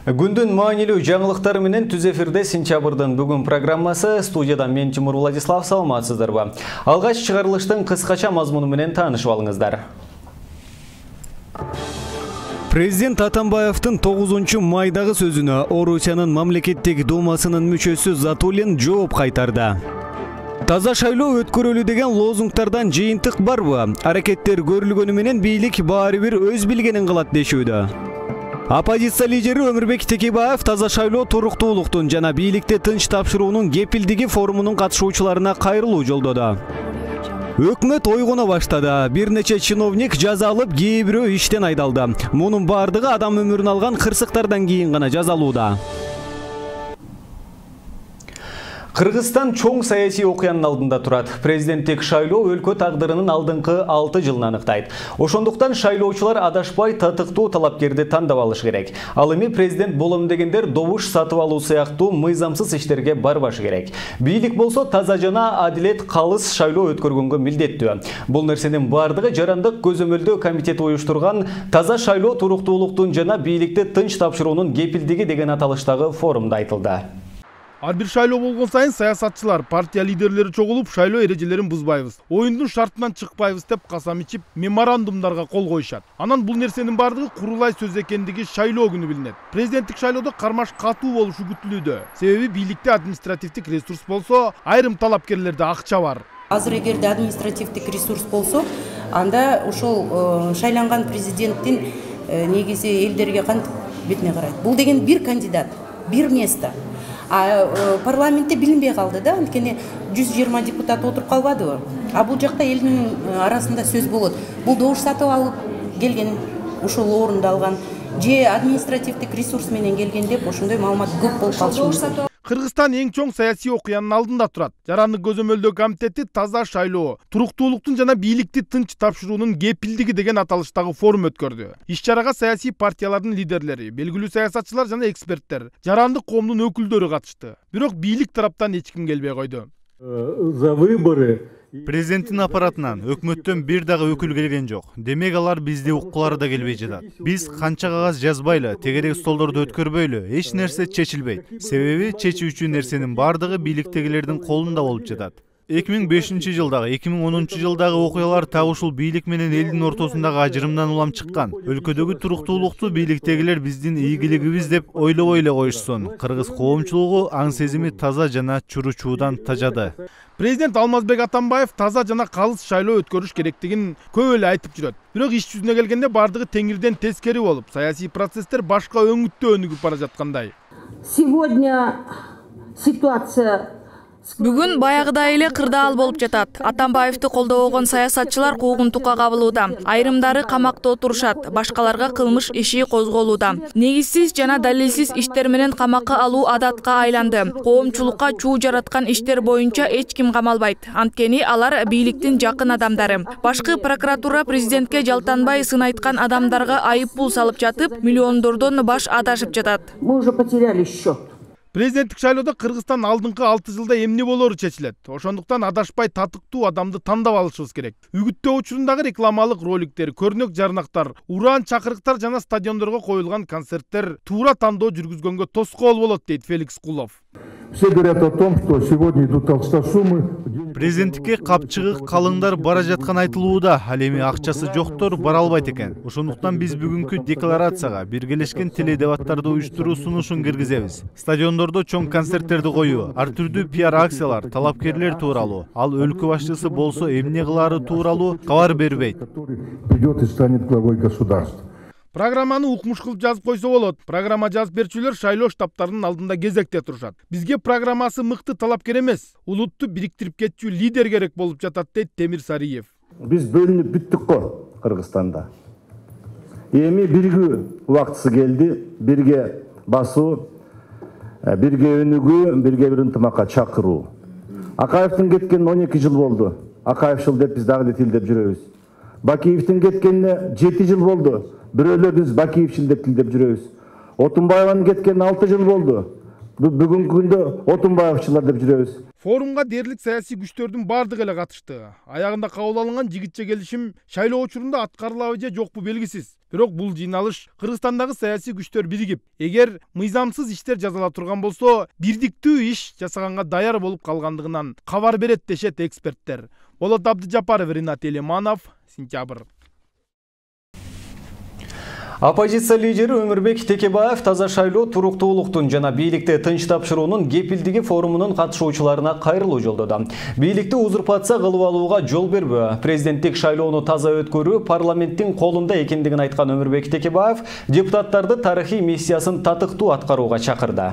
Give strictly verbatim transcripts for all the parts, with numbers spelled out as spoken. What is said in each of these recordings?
Күндүн маанилүү жаңылыктары менен түз эфирде сентябрдын бүгүн программасы. Студияда мен Тимур Владислав, саламатсыздарбы? Алгач чыгарылыштын кыскача мазмуну менен таанышып алыңыздар. Президент Атамбаевдин тогузунчу майдагы сөзүнө Орусиянын мамлекеттик думасынын мүчөсү Затулин жооп кайтарды. Таза шайлоо өткөрөлү деген лозунгтардан жыйынтык барбы? Аракеттер көрүлгөнү менен бийлик баары бир өз билгенин кылат дешүүдө. Оппозиция лидери Өмүрбек Текебаев таза шайлоо туруктуулуктун жана бийликти тынч тапшыруунун кепилдиги форумунун катышуучуларына кайрылуу жолдоду. Өкмөт ойгоно баштады. Бир нече чиновник жаза алып, кээ бирөө иштен айдалды. Мунун бардыгы адам өмүрүн алган кырсыктардан кийин гана жазалууда. Кыргызстан чоң саясий окуянын алдында турат. Президенттик шайлоо өлкө тагдырынын алдыңкы алты жылын аныктайт. Ошондуктан шайлоочулар адашпай татыктуу талапкерди тандап алыш керек. Ал эми президент болом дегендер добуш сатып алуу сыяктуу мыйзамсыз иштерге барбашы керек. Бийлик болсо таза жана адилет калыс шайлоо өткөргөнгө милдеттүү. Бул нерсенин бардыгы жарандык көзөмөлдөө комитети уюштурган таза шайлоо туруктуулуктун жана бийликти тынч тапшыруунун кепилдиги деген аталыштагы форумда айтылды. Ар бир шайлоо болгон сайын саясатчылар, партия лидерлери чогулуп шайлоо эрежелерин бузбайбыз, оюндун шартынан чыкпайбыз деп касам ичип меморандумдарга кол коюшат. Анан бул нерсенин бардыгы курулай сөз экендиги шайлоо күнү билинет. Президенттик шайлоодо кармаш катуу болушу күтүлүүдө. Себеби бийликте административдик ресурс болсо, айрым талапкерлерде акча бар. Азыр эгерде административдик ресурс болсо, анда ошол шайланган президенттин негизи элдерге кантип бетине карайт. Бул деген бир кандидат, бир место. А парламентте билинбей калды да, анткени жүз жыйырма депутат отуруп калбадыбы? А бул жакта элдин арасында сөз болот. Бул добуш сатып алып келген, ошол орунду алган, же административдик ресурс менен келген деп ошондой маалымат көп болуп калышы мүмкүн. Кыргызстан эң чоң саясий окуянын алдында турат. Жарандык көзөмөлдөө комитети таза шайлоо, туруктуулуктун жана бийликти тынч тапшыруунун кепилдиги деген аталыштагы форум өткөрдү. Иш-чарага саясий партиялардын лидерлери, белгилүү саясатчылар жана эксперттер, жарандык коомдун өкүлдөрү катышты. Бирок бийлик тараптан эч ким келбей койду. За выборы Президенттин аппаратынан өкмөттөн бир дагы өкүл келген жок. Демек алар бизди уккулары да келбей жатат. Биз канча кагаз жазбайлы, тегерек столдорду өткөрбөйлү, эч нерсе чечилбейт. Себеби чечүүчү нерсенин бардыгы бийликтегилердин колунда болуп жатат. эки миң бешинчи жылдагы, эки миң онунчу жылдагы окуялар так ушул бийлик менен элдин ортосундагы ажырымдан улам чыккан. Өлкөдөгү туруктуулукту бийликтегилер биздин ийгилигибиз деп ойлобой эле коюшсун. Кыргыз коомчулугу аң сезими таза жана чуручуудан тажады. Президент Алмазбек Атамбаев таза жана калыс шайлоо өткөрүш керектигин көп эле айтып жүрөт. Бирок иш жүзүнө келгенде бардыгы теңирден тескери болуп, саясий процесстер башка өңүттө өнүгүп бара жаткандай. Сегодня ситуация Бүгүн баягыдай эле кырдаал болуп жатат. Атамбаевди колдобогон саясатчылар куугунтукка кабылууда. Айрымдары камакта отурушат, башкаларга кылмыш иши козголууда. Негизсиз жана далилсиз иштер менен камакка алуу адатка айланды. Коомчулукка чуу жараткан иштер боюнча эч ким камалбайт. Анткени алар бийликтин жакын адамдары. Башкы прокуратура президентке жалтанбай сын айткан адамдарга айып пул салып жатып, миллиондордон баш адашып жатат. Мы уже потеряли счет. Президенттик шайлоодо Кыргызстан алдыңкы алты жылда эмне болору чечилет. Ошондуктан адашпай татыктуу адамды тандап алышыбыз керек. Үгүттөө учурундагы рекламалык роликтер, көрнөк жарнактар, уран чакырыктар жана стадиондорго коюлган концерттер туура тандоо жүргүзгөнгө тоскоол болот, дейт Феликс Кулов. Все говорят о том, что сегодня идут толстосумы. Президенттикке капчыгы калыңдар бара жаткан айтылууда, ал эми акчасы жоктор бара албайт экен. Ошондуктан биз бүгүнкү декларацияга биргелешкен теледебаттарды уюштуруу сунушун киргизебиз. Стадиондордо чоң концерттерди коюу, ар түрдүү пиар акциялар, талапкерлер тууралуу, ал өлкө башчысы болсо эмне кылаары тууралуу кабар бербейт. Придет и станет главой государства. Программаны укмуш кылып жазып койсо болот. Программа жазып берчүлөр шайлоо штабтарынын алдында кезекте турушат. Бизге программасы мыкты талапкер эмес, улутту бириктирип кетчү лидер керек болуп жатат, дейт Темир Сариев. Биз бөлүнүп бүттүк го Кыргызстанда. Эми биригүү убактысы келди, бирге басуу, бирге өнүгүү, бирге бир ынтымакка чакыруу. Акаевдин кеткенине он эки жыл болду. Акаевшыл деп биз дагы тилдеп жүрөбүз. Бакиевдин кеткенине жети жыл болду. Бирөөлөр биз Бакиевчил деп тилдеп жүрөбүз. Отунбаеванын кеткенине алты жыл болду. Бүгүнкү күндө Отунбаевчылар деп жүрөбүз. Форумга дээрлик саясий күчтөрдүн бардыгы эле катышты. Аягында кабыл алынган жигитче келишим шайлоо учурунда аткарылабы же жокпу белгисиз. Бирок бул жыйналыш Кыргызстандагы саясий күчтөр биригип, эгер мыйзамсыз иштер жазыла турган болсо, бирдиктүү иш жасаганга даяр болуп калгандыгынан кабар берет дешет эксперттер. Болот Абдыжапаров, Ринат Элеманов, Сентябрь. Оппозиция лидери Өмүрбек Текебаев таза шайлоо, туруктуулуктун жана бийликти тынч тапшыруунун кепилдиги форумунун катышуучуларына кайрылуу жолдоду. Бийликти узурпация кылып алууга жол бербөө, президенттик шайлоону таза өткөрүү парламенттин колунда экендигин айткан Өмүрбек Текебаев депутаттарды тарыхый миссиясын татыктуу аткарууга чакырды.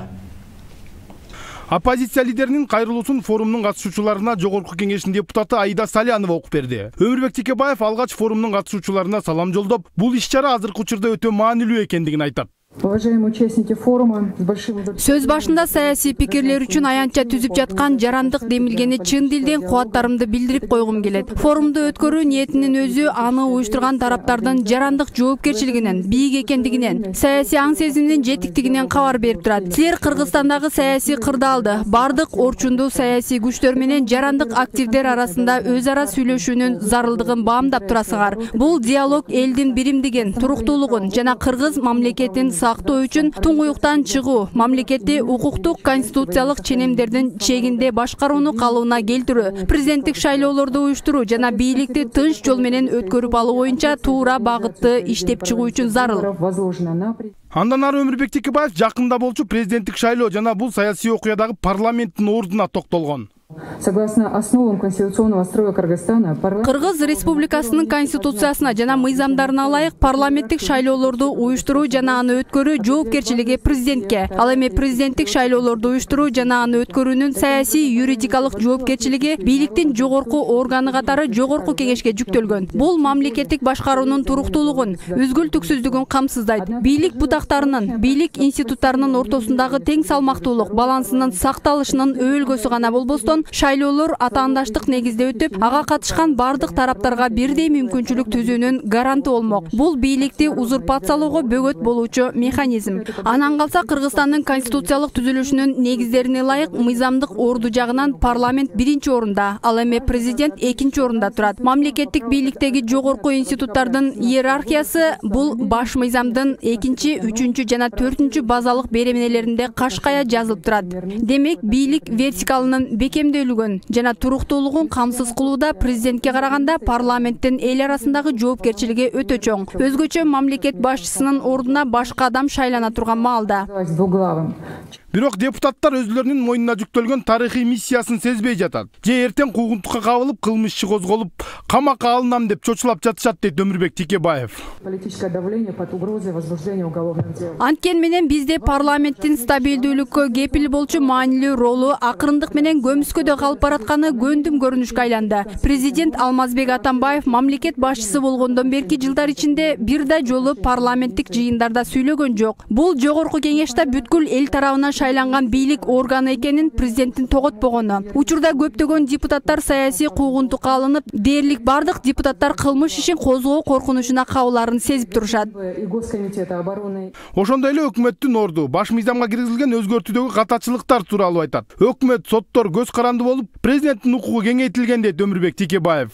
Оппозиция лидеринин кайрылуусун форумдун катышуучуларына Жогорку кеңештин депутаты Аида Салянова окуп берди. Өмүрбек Текебаев алгач форумдун катышуучуларына салам жолдоп, бул иш-чара азыркы учурда өтө маанилүү экендигин айтат. Уважаемые участники форума, с большим сөз башында саясий пикирлер үчүн аянтча түзүп жаткан жарандык демилгени чын дилден кубаттарымды билдирип койгум келет. Форумду өткөрүү ниетинин өзү аны уюштурган тараптардын жарандык жоопкерчилигинен, бийик экендигинен, саясий аң сезиминин жетиктигинен кабар берип турат. Силер Кыргызстандагы саясий кырдаалды, бардык орчундуу саясий күчтөр менен жарандык активдер арасында өз ара сүйлөшүүнүн зарылдыгын баамдап турасыңар. Бул диалог элдин биримдигин, туруктуулугун жана кыргыз мамлекетин сактоо үчүн туңгуюктан чыгуу, мамлекетти укуктук конституциялык ченемдердин чегинде башкарууну калыбына келтирүү, президенттик шайлоолорду уюштуруу жана бийликти тынч жол менен өткөрүп алуу боюнча туура багытты иштеп чыгуу үчүн зарыл. Андан ары Өмүрбек Текебаев жакында болчу президенттик шайлоо жана бул саясий окуядагы парламенттин ордуна токтолгон. Согласно основам конституционного строя Кыргызстана, Кыргыз Республикасынын конституциясына жана мыйзамдарына ылайык парламенттик шайлоолорду уюштуруу жана аны өткөрүү жоопкерчилиги президентке. Ал эми президенттик шайлоолорду уюштуруу жана аны өткөрүүнүн саясий юридикалык жоопкерчилиги бийликтин жогорку органы катары Жогорку кеңешке жүктөлгөн. Бул мамлекеттик башкаруунун туруктуулугун, үзгүлтүксүздүгүн камсыздайт. Бийлик бутактарынын, бийлик институттарынын ортосундагы тең салмактуулук балансынын сакталышынын өбөлгөсү гана болбостон, шайлоолор атаандаштык негизде өтүп, ага катышкан бардык тараптарга бирдей мүмкүнчүлүк түзүүнүн гаранты болмок. Бул бийликти узурпациялоого бөгөт болуучу механизм. Анан калса Кыргызстандын конституциялык түзүлүшүнүн негиздерине ылайык мыйзамдык орду жагынан парламент биринчи орунда, ал эми президент экинчи орунда турат. Мамлекеттик бийликтеги жогорку институттардын иерархиясы бул баш мыйзамдын экинчи, үчүнчү жана төртүнчү базалык беренелеринде кашкая жазылып турат. Демек, бийлик вертикалынын бекем жана туруктуулугун камсыз кылууда президентке караганда парламенттин эл арасындагы жоопкерчилиги өтө чоң. Өзгөчө мамлекет башчысынын ордуна башка адам шайлана турган маалда. Бирок депутаттар өзлөрүнүн мойнуна жүктөлгөн тарыхый миссиясын сезбей жатат. Же эртең куугунтукка кабылып, кылмыш иши козголуп, камакка алынам деп чочулап жатышат дейт Өмүрбек Текебаев. Анткени менен бизде парламенттин стабилдүүлүккө кепил болчу маанилүү ролу акырындык менен көмүскөдө калып баратканы көндүм көрүнүшкө айланды. Президент Алмазбек Атамбаев мамлекет башчысы болгондон берки жылдар ичинде бир да жолу парламенттик жыйындарда сүйлөгөн жок. Бул Жогорку кеңеште бүткүл эл тарабынан шайланган бийлик органы экенин президенттин тоготпогону. Учурда көптөгөн депутаттар саясий куугунтукка алынып, дээрлик бардык депутаттар кылмыш ишин козгоо коркунучуна кабыларын сезип турушат. Ошондой эле өкмөттүн орду баш мыйзамга киргизилген өзгөртүүдөгү катачылыктар тууралуу айтат. Өкмөт, соттор көз каранды болуп, президенттин укугу кеңейтилген дейт Өмүрбек Текебаев.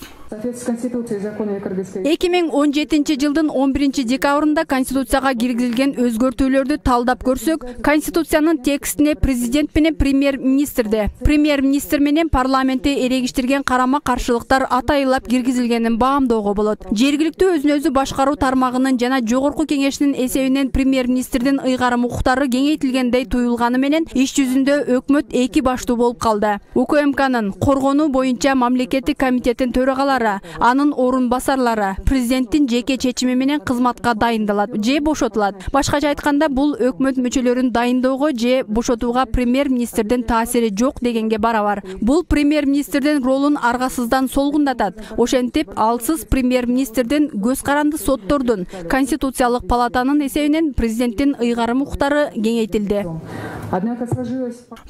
эки миң он жетинчи жылдын он биринчи декабрында Конституцияга киргизилген өзгөртүүлөрдү талдап көрсөк, Конституциянын текстине президент менен премьер-министрде, премьер-министр менен парламентти эрегиштирген карама каршылыктар атайылап киргизилгенин баамдоого болот. Жергиликтүү өзүн өзү башкаруу тармагынын жана Жогорку кеңештин эсебинен премьер-министрдин ыйгарым укуктары кеңейтилгендей туюлганы менен иш жүзүндө өкмөт эки баштуу болуп калды. УКМКнын коргонуу боюнча мамлекеттик комитеттин төрагалары, анын орун басарлары президенттин жеке чечими менен кызматка дайындалат же бошотулат. Башкача айтканда, бул өкмөт мүчөлөрүн дайындоого же бошотууга премьер-министрдин таасири жок дегенге барабар. Бул премьер-министрдин ролун аргасыздан солгундатат. Ошентип, алсыз премьер-министрдин көз каранды соттордун, Конституциялык палатанын эсебинен президенттин ыйгарым укуктары кеңейтилди.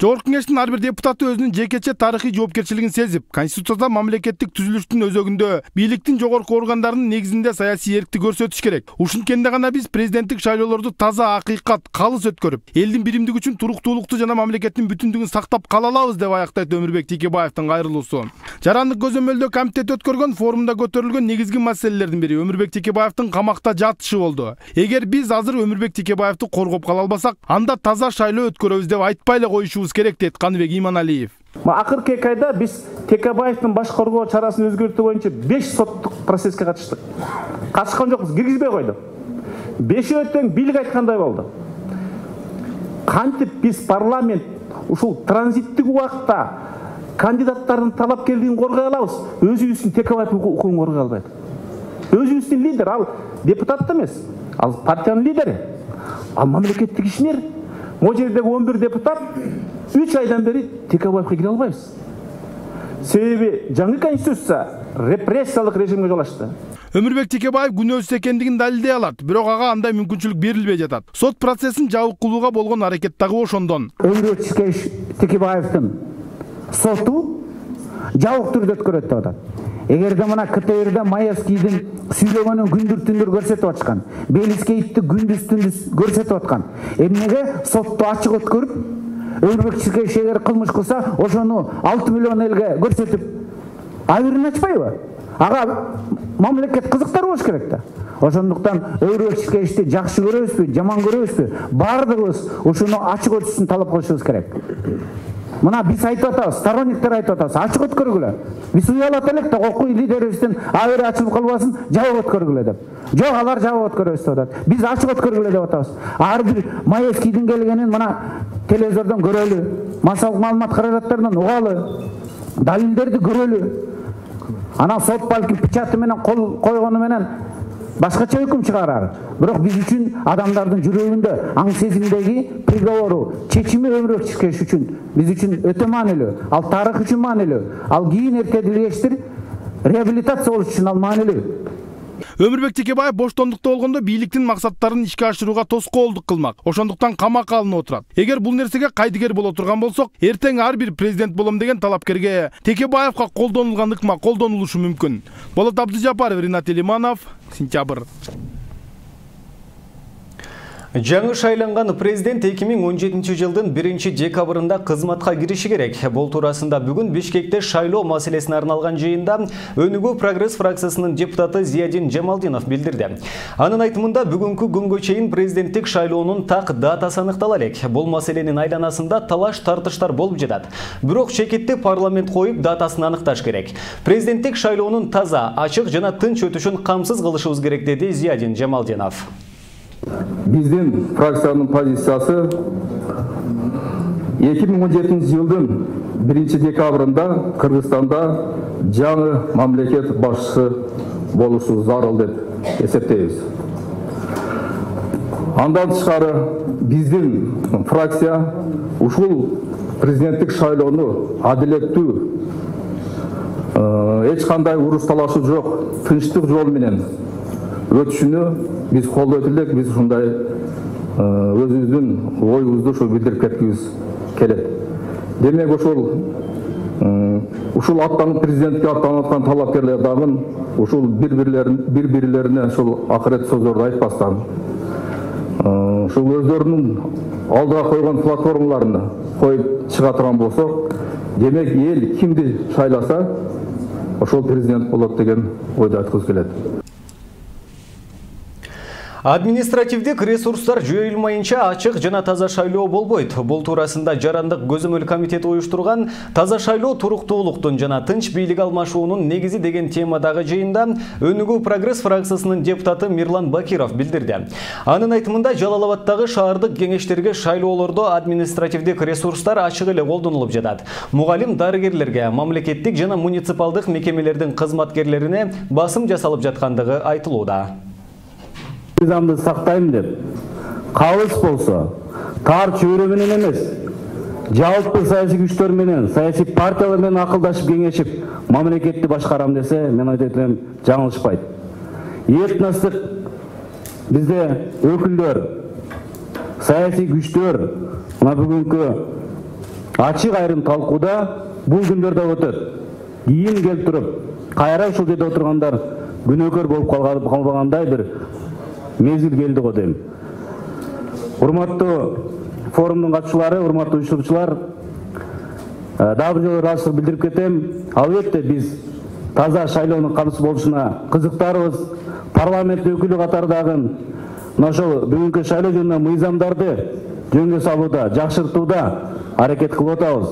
Жогорку кеңештин ар бир депутаты өзүнүн жекече тарыхый жоопкерчилигин сезип, Конституцияда мамлекеттик түзүлүштүн өзөгүндө бийликтин жогорку органдарынын негизинде саясий эркти көрсөтүш керек. Ушинткенде гана биз президенттик шайлоолорду таза, акыйкат, калыс өткөрүп, элдин биримдиги үчүн туруктуулукту жана мамлекеттин бүтүндүгүн сактап кала алабыз деп аяктайт Өмүрбек Текебаевдин кайрылуусу. Жарандык көзөмөлдөө комитет өткөргөн форумда көтөрүлгөн негизги маселелердин бири Өмүрбек Текебаевдин камакта жатышы болду. Эгер биз азыр Өмүрбек Текебаевди коргоп кала албасак, анда таза шайлоо өткөрөбүз деп айтпай эле коюшубуз керек дейт Каныбек Иманалиев. Акыркы эки айда биз Текебаевдин баш коргоо чарасын өзгөртүү боюнча беш соттук процесске катыштык. Катышкан жокпуз, киргизбей койдук. Бешөө тең бийлик айткандай болду. Кантип биз парламент ушул транзиттик убакытта кандидаттардын талапкерлигин коргой алабыз, өзүбүздүн Текебаев укугун коргой албайт. Өзүбүздүн лидер, ал депутат эмес, ал партиянын лидери, ал мамлекеттик ишмер. Могу жердеги он бир депутат үч айдан бери Текебаевге кире албайбыз. Себеби жаңы конституция репрессиялык режимге жол ачты. Өмүрбек Текебаев күнөөсүз экендигин далилдей алат, бирок ага андай мүмкүнчүлүк берилбей жатат. Сот процессин жабык кылууга болгон аракет дагы ошондон. Өмүрбек Текебаевдин соту жабык түрдө өткөрөт деп атат. Эгерде мына КТРде Маевскийдин сүйлөгөнүн күндүр түндүр көрсөтүп атышкан, Белискеевди күндүз түндүз көрсөтүп аткан, эмнеге сотту ачык өткөрүп, Өмүрбек Текебаев эгер кылмыш кылса, ошону алты миллион элге көрсөтүп, айырын ачпайбы? Ага мамлекет кызыктар болуш керек да. Ошондуктан Өмүрбек Текебаевди жакшы көрөбүзбү, жаман көрөбүзбү, бардыгыбыз ушуну ачык өтүшүн талап кылышыбыз керек. Мына биз айтып атабыз, сторонниктер айтып атабыз, ачык өткөргүлө. Биз уялат элек да, окуй лидерибиздин абери ачылып калбасын, жабык өткөргүлө деп. Жок, алар жабык өткөрөбүз деп атат. Биз ачык өткөргүлө деп атабыз. Ар бир Маевскийдин келгенин мына телевизордон көрөлү, массалык маалымат каражаттарынан угалы, далилдерди көрөлү. Анан сот балки печаты менен кол койгону менен башкача өкүм чыгарар. Бирок биз үчүн адамдардын жүрөгүндө, аң сезимдеги приговору, чечими Өмүрбек Текебаев үчүн, биз үчүн өтө маанилүү. Ал тарых үчүн маанилүү. Ал кийин эркедилгечтир реабилитация болуш үчүн ал маанилүү. Өмүрбек Текебаев боштондукта болгондо бийликтин максаттарын ишке ашырууга тоскоолдук кылмак. Ошондуктан камакка алынып отурат. Эгер бул нерсеге кайдыгер боло турган болсок, эртең ар бир президент болом деген талапкерге Текебаевга колдонулган ыкма колдонулушу мүмкүн. Болот Абдыжапаров, Ринат Элиманов, Сентябрь. Жаңы шайланган президент эки миң он жетинчи жылдын биринчи декабрында кызматка кириши керек. Бул туурасында бүгүн Бишкекте шайлоо маселесине арналган жыйында Өнүгүү Прогресс фракциясынын депутаты Зиядин Жамалдинов билдирди. Анын айтымында бүгүнкү күнгө чейин президенттик шайлоонун так датасы аныктала элек. Бул маселенин айланасында талаш тартыштар болуп жатат. Бирок чекитти парламент коюп датасын аныкташ керек. Президенттик шайлоонун таза, ачык жана тынч өтүшүн камсыз кылышыбыз керек, деди Зиядин Жамалдинов. Биздин фракциянын позициясы эки миң он жетинчи жылдын биринчи декабрында Кыргызстанда жаңы мамлекет башчысы болушу зарыл деп эсептейбиз. Андан тышкары биздин фракция ушул президенттик шайлоону адилеттүү, эч кандай уруш талашы жок, тынчтык жол менен өтүшүнө биз колдойт элек. Биз ушундай өзүбүздүн оюбузду ошо билдирип кеткибиз келет. Демек ошол ушул аттанып президентке аттанып аткан талапкерлер дагы ушул бири-бирлерин бири-бирлерине ушул акырет сөздөрдү айтпастан, ушул өздөрүнүн алдыга койгон платформаларын коюп чыга турган болсок, демек эл кимди шайласа, ошол президент болот деген ойду айткыбыз келет. Административдик ресурстар жойулмайынча ачык жана таза шайлоо болбойт. Бул туурасында Жарандык көзөмөл комитети уюштурган таза шайлоо туруктуулуктун жана тынч бийлик алмашуунун негизи деген темадагы жыйында Өнүгүү Прогресс фракциясынын депутаты Мирлан Бакиров билдирди. Анын айтымында Жалал Абаддагы шаардык кеңештерге шайлоолордо административдик ресурстар ачык эле колдонулуп жатат. Мугалим дарыгерлерге, мамлекеттик жана муниципалдык мекемелердин кызматкерлерине басым жасалып жаткандыгы айтылууда. Низамды сактайм деп, калыс болсо, тар чөйрө менен эмес, жалпы саясий күчтөр менен, саясий партиялар менен акылдашып кеңешип, мамлекетти башкарам десе, мен айтып элем, жаңылышпайт. Этностук бизде өкүлдөр, саясий күчтөр мына бүгүнкү ачык айрым талкууда бул күндөрдө өтөт. Кийин келип туруп, кайра ушул жерде отургандар күнөөкөр болуп калбагандай бир мезгил келди го дейм. Урматтуу форумдун катчылары, урматтуу уюштуруучулар, дагы бир жолу ыраазычылык билдирип кетем. Албетте биз таза шайлоонун катысып болушуна кызыктарбыз. Парламент өкүлү катардагы мына ошол бүгүнкү шайлоо жөнүндө мыйзамдарды жөнгө салууда, жакшыртууда аракет кылып атабыз.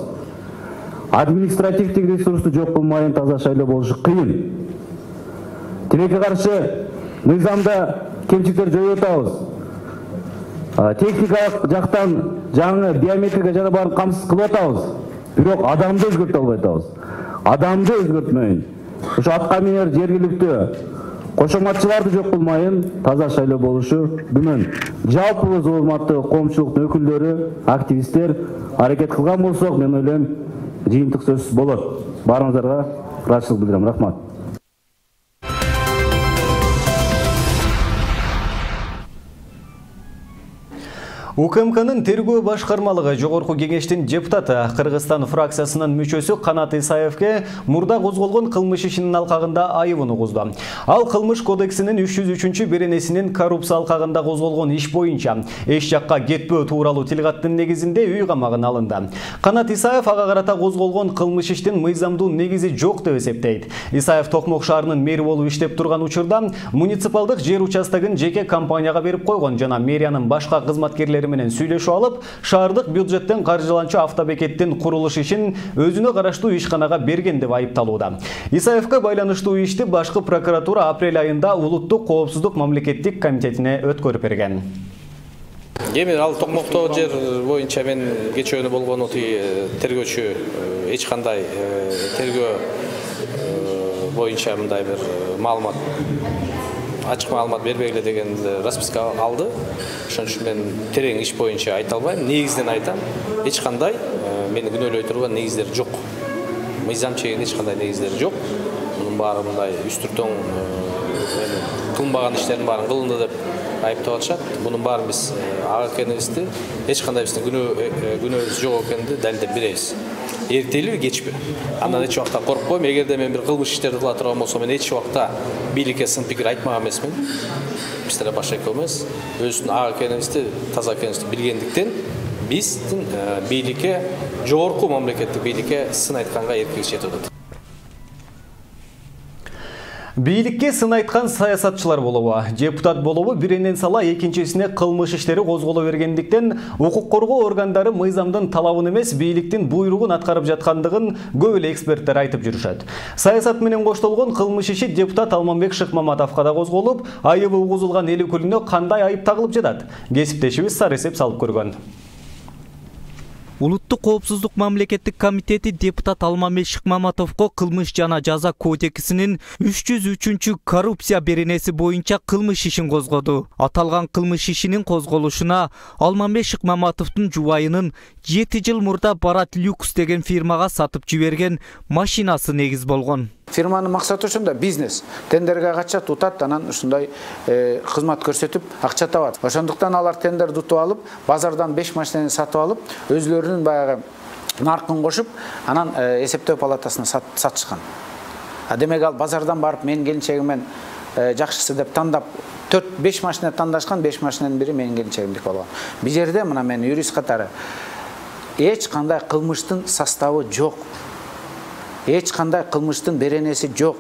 Административдик ресурсту жок кылмайын таза шайлоо болушу кыйын. Тилекке каршы мыйзамда кемчиликтер жоюп атабыз. Техникалык жактан жаңы биометрика жана баарын камсыз кылып атабыз. Бирок адамды өзгөртө албай атабыз. Адамды өзгөртмөйүн. Ошо атка минер жергиликтүү кошоматчыларды жок кылмайын таза шайлоо болушу күмөн. Жалпыбыз урматтуу коомчулуктун өкүлдөрү, активисттер аракет кылган болсок, мен ойлойм жыйынтык сөзсүз болот. Баарыңыздарга ыраазычылык билдирем. Рахмат. УКМКнын тергөө башкармалыгы жогорку кеңештин депутаты Кыргызстан фракциясынын мүчөсү Канат Исаевке мурда козголгон кылмыш ишинин алкагында айыбын угузду. Ал кылмыш кодексинин үч жүз үчүнчү беренесинин коррупция алкагында козголгон иш боюнча эч жакка кетпөө тууралуу тил каттын негизинде үй камагына алынды. Канат Исаев ага карата козголгон кылмыш иштин мыйзамдуу негизи жок деп эсептейт. Исаев Токмок шаарынын мэри болуп иштеп турган учурда муниципалдык жер участогун жеке компанияга берип койгон жана мэриянын башка кызматкерлери менен сүйлөшүп алып, шаардык бюджеттен каржыланчу автобекеттин курулуш ишин өзүнө караштуу ишканага берген деп айыпталууда. Исаевке байланыштуу ишти башкы прокуратура апрель айында Улуттук коопсуздук мамлекеттик комитетине өткөрүп берген. Эми ал Токмокто жер боюнча мен кечөөнү болгону тергөөчү эч кандай тергөө боюнча мындай бир маалымат ачык маалымат бербегиле деген расписка алды. Ошон үчүн мен терең иш боюнча айта албайм. Негизден айтам, эч кандай мени күнөөлөй турган негиздер жок. Мыйзам чегинде эч кандай негиздер жок. Мунун баары мындай үстүртөң кылынбаган иштердин баарын кылынды деп айыптап атышат. Мунун баарын биз ак экенибизди, эч кандай биздин күнөөбүз жок экенин далилдеп беребиз. Эртелиби кечпи. Андан эч убакта коркпойм. Эгерде мен бир кылмыш иштерди кыла турган болсом, мен эч убакта бийликке сын пикир айтмаган эмесмин. Биздер башка эмес. Өзүнүн ак экенибизди, таза экенибизди билгендиктен биздин бийликке, жогорку мамлекеттик бийликке сын айтканга эркибиз жетип атат. Бийликке сын айткан саясатчылар болобу, депутат болобу биринен сала экинчисине кылмыш иштери козголо бергендиктен укук коргоо органдары мыйзамдын талабын эмес, бийликтин буйругун аткарып жаткандыгын көп эле эксперттер айтып жүрүшөт. Саясат менен коштолгон кылмыш иши депутат Алмамбек Шыкмаматовго да козголуп, айыбы угузулган эл өкүлүнө кандай айып тагылып жатат? Кесиптешибиз сары эсеп салып көргөн. Улуттук коопсуздук мамлекеттик комитети депутат Алмамбек Шыкмаматовго кылмыш жана жаза кодексинин үч жүз үчүнчү коррупция беренеси боюнча кылмыш ишин козгоду. Аталган кылмыш ишинин козголушуна Алмамбек Шыкмаматовдун жубайынын жети жыл мурда Барат Люкс деген фирмага сатып жиберген машинасы негиз болгон. Фирманын максаты ушунда бизнес. Тендерге качат, утат, анан ушундай кызмат көрсөтүп акча табат. Ошондуктан алар тендерди утуп алып, базардан беш машинаны сатып алып, өзлөрүнүн баягы наркын кошуп, анан эсептөө палатасына сатышкан. Демек ал базардан барып менин келинчегимен жакшысы деп тандап төрт беш машина тандашкан, беш машинанын бири менин келинчегимдики болгон. Бул жерде мына мен юрист катары эч кандай кылмыштын составы жок. Эч кандай кылмыштын беренеси жок.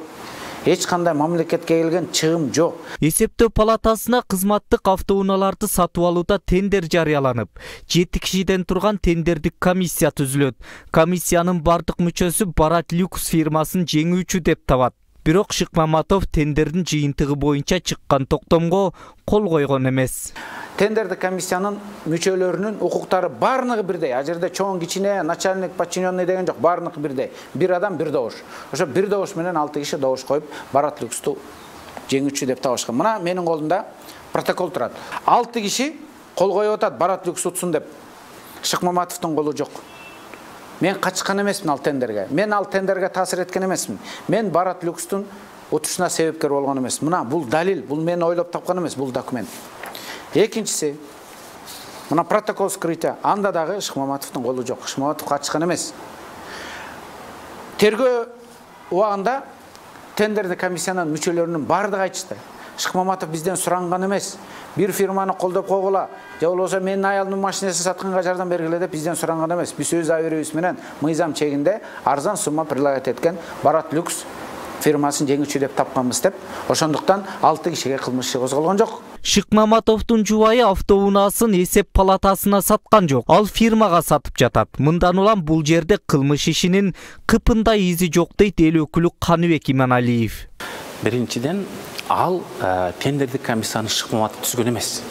Эч кандай мамлекетке келген чыгым жок. Эсептөө палатасына кызматтык автоунааларды сатып алууда тендер жарыяланып, жети кишиден турган тендердик комиссия түзүлөт. Комиссиянын бардык мүчөсү Барат Люкс фирмасын жеңүүчү деп табат. Бирок Шыкмаматов тендердин жыйынтыгы боюнча чыккан токтомго кол койгон эмес. Тендердик комиссиянын мүчөлөрүнүн укуктары баарыныгы бирдей. А жерде чоң, кичине, начальник, подчиненный деген жок, баарыныгы бирдей. Бир адам бир добуш. Ошо бир добуш менен алты киши добуш коюп, Барат Люксту жеңүүчү деп табышкан. Мына менин колумда протокол турат. алты киши кол коюп атат Барат Люкс утсун деп. Шыкмаматовдун колу жок. Мен качкан эмесмин ал тендерге. Мен ал тендерге таасир эткен эмесмин. Мен Барат Люкстун утушуна себепкер болгон эмесмин. Мына бул далил, бул мен ойлоп тапкан эмес, бул документ. Экинчиси, мына протокол скрытия, анда дагы Шыкмаматовдун колу жок. Шыкмаматов качкан эмес. Тергөө убагында тендердик комиссиянын мүчөлөрүнүн баардыгы айтышты. Шыкмаматов бизден суранган эмес. Бир фирманы колдоп койгула, же болбосо менин аялымдын машинесин сатканга жардам бергиле деп бизден суранган эмес. Биз өз абийибиз менен мыйзам чегинде арзан сумма предлагать эткен Барат Люкс фирмасын жеңүүчү деп тапканбыз деп. Ошондуктан алты кишиге кылмыш иши козголгон жок. Шыкмаматовдун жубайы автоунаасын эсеп палатасына саткан жок. Ал фирмага сатып жатат. Мындан улам бул жерде кылмыш ишинин кыпындай изи жок дейт эл өкүлү Каныбек Иманалиев. Биринчиден, ал тендердик комиссияны Шыкмаматов түзгөн эмес.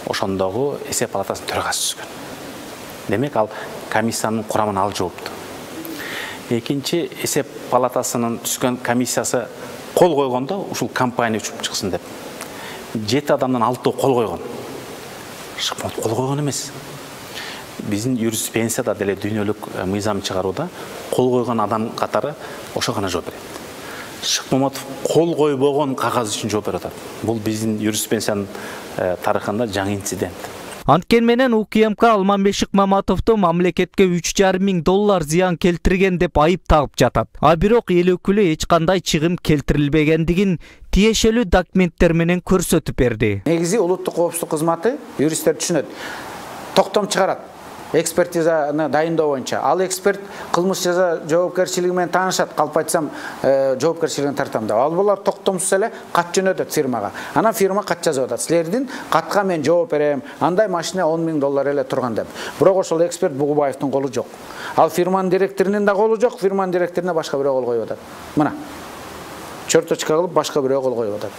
Ошондогу эсеп палатасынын төрагасы түзгөн. Демек, ал комиссиянын курамына ал жоопту. Экинчи, эсеп палатасынын түзгөн комиссиясы кол койгондо ушул компания учуп чыксын деп. Жети адамдан алтоо кол койгон. Шыкмаматов кол койгон эмес. Биздин юриспруденцияда деле дүйнөлүк мыйзам чыгарууда кол койгон адам катары ошо гана жооп берет. Шыкмаматов кол койбогон кагаз үчүн жооп берип атат. Бул биздин юриспруденциянын тарыхында жаңы инцидент. Анткени менен УКМК Алмамбет Шыкмаматовду мамлекетке үч жарым миң доллар зыян келтирген деп айып тагып жатат. А бирок эл өкүлү эч кандай чыгым келтирилбегендигин тиешелүү документтер менен көрсөтүп берди. Негизи улуттук коопсуздук кызматы юристтер түшүнөт. Токтом чыгарат. Экспертизаны дайындоо боюнча. Ал эксперт кылмыш жаза жоопкерчилиги менен таанышат. Калп айтсам, жоопкерчилигин тартам деп. Ал булар токтомсуз эле кат жөнөтөт фирмага. Анан фирма кат жазып атат. Силердин катка мен жооп берем. Андай машина он миң доллар эле турган деп. Бирок ошол эксперт Бугубаевдин колу жок. Ал фирманын директорунун да колу жок, фирманын директоруна башка бирөө кол коюп атат. Мына. Черточка кылып башка бирөө кол коюп атат.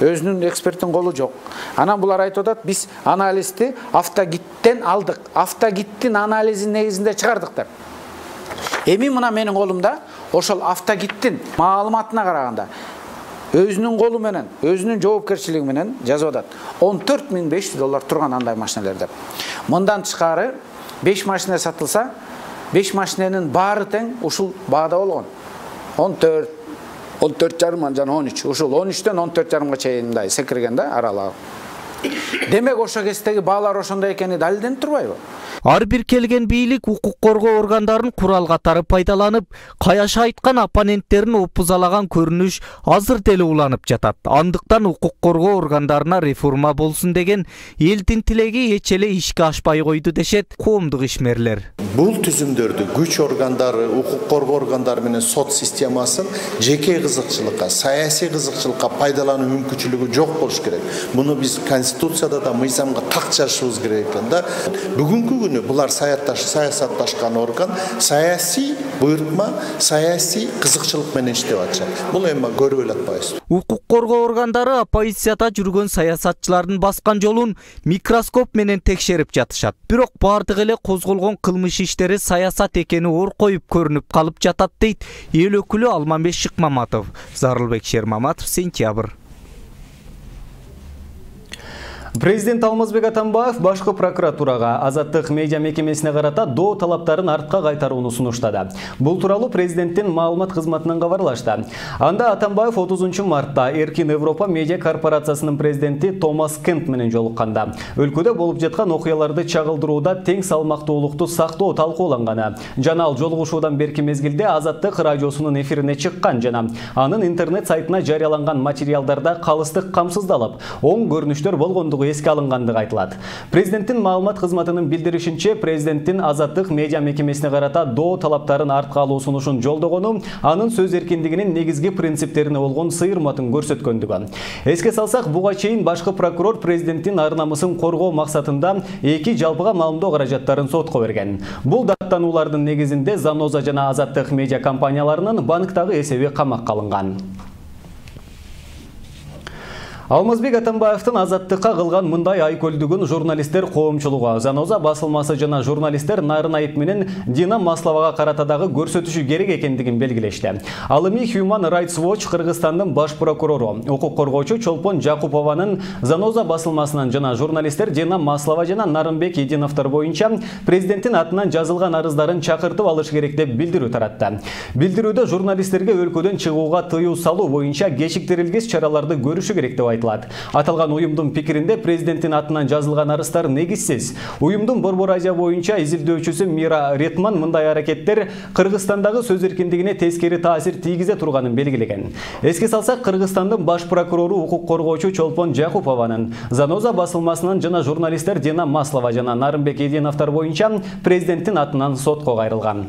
Өзүнүн эксперттин колу жок. Анан булар айтып атат, биз анализди автогиттен алдык. Автогиттин анализин негизинде чыгардыктар. Эми мына менин колумда ошол автогиттин маалыматына караганда өзүнүн колу менен, өзүнүн жоопкерчилиги менен жазып атат. он төрт миң беш жүз доллар турган андай машиналар деп. Мындан тышкары беш машина сатылса, беш машинанын баары тең ушул баада болгон. он төрт он төрт жарым жана он үч. Ушул он үчтөн он төрт жарымга чейин мындай секирген да аралыгы. Демек ошо кездеги баалар ошондой экени далилденип турбайбы? Ар бир келген бийлик укук коргоо органдарын курал катары пайдаланып, каяша айткан оппоненттерин опузалаган көрүнүш азыр деле уланып жатат. Андыктан укук коргоо органдарына реформа болсун деген элдин тилеги эч эле ишке ашпай койду дешет коомдук ишмерлер. Бул түзүмдөрдү күч органдары, укук коргоо органдары менен сот системасын жеке кызыкчылыкка, саясий кызыкчылыкка пайдалануу мүмкүнчүлүгү жок болуш керек. Муну биз Конституцияда да мыйзамга так жазышыбыз керек экен да. Бүгүнкү күнү булар саясатташкан орган саясий буйрутма, саясий кызыкчылык менен иштеп атышат. Бул эми көрүп эле атпайбыз. Укук коргоо органдары оппозицияда жүргөн саясатчылардын баскан жолун микроскоп менен текшерип жатышат. Бирок бардыгы эле козголгон кылмыш иштери саясат экени ор коюп көрүнүп калып жатат дейт эл өкүлү Алмамбет Шыкмаматов. Зарылбек Шермаматов, Сентябрь. Президент Алмазбек Атамбаев башкы прокуратурага азаттык медиа мекемесине карата доо талаптарын артка кайтарууну сунуштады. Бул тууралуу президенттин маалымат кызматынан кабарлашты. Анда Атамбаев отузунчу мартта Эркин Европа медиа корпорациясынын президенти Томас Кент менен жолукканда өлкөдө болуп жаткан окуяларды чагылдырууда тең салмактуулукту сактоо талкууланганы жана ал жолугушуудан берки мезгилде Азаттык радиосунун эфирине чыккан жана анын интернет сайтына жарыяланган материалдарда калыстык камсыздалып, оң көрүнүштөр болгондугу эске алынгандыгы айтылат. Президенттин маалымат кызматынын билдиришинче, президенттин Азаттык медиа мекемесине карата доо талаптарын артка алуу сунушун жолдогону анын сөз эркиндигинин негизги принциптерине болгон сыйырматын көрсөткөндүгү. Эске салсак, буга чейин башкы прокурор президенттин ар намысын коргоо максатында эки жалпыга маалымдоо каражаттарын сотко берген. Бул даттануулардын негизинде Заноза жана Азаттык медиа компанияларынын банктагы эсеби камакка алынган. Алмазбек Атамбаевдин Азаттыкка кылган мындай айкөлдүгүн журналисттер коомчулугу, Заноза басылмасы жана журналисттер Нарын Айып менен Дина Масловага карата дагы көрсөтүшү керек экендигин белгилешти. Ал эми Human Rights Watch Кыргызстандын баш прокурору, укук коргоочу Чолпон Жакупованын Заноза басылмасынан жана журналисттер Дина Маслова жана Нарынбек Эдиновдор боюнча президенттин атынан жазылган арыздарын чакыртып алыш керек деп билдирүү таратты. Билдирүүдө журналисттерге өлкөдөн чыгууга тыюу салуу боюнча кечиктирилгис чараларды көрүшү керек деп айтылды. айтылат. Аталган уюмдун пикиринде президенттин атынан жазылган арыздар негизсиз. Уюмдун Борбор Азия боюнча изилдөөчүсү Мира Ретман мындай аракеттер Кыргызстандагы сөз эркиндигине тескери таасир тийгизе турганын белгилеген. Эске салсак, Кыргызстандын баш прокурору укук коргоочу Чолпон Жакупованын Заноза басылмасынан жана журналисттер Дина Маслова жана Нарымбек Эдиновдор боюнча президенттин атынан сотко кайрылган.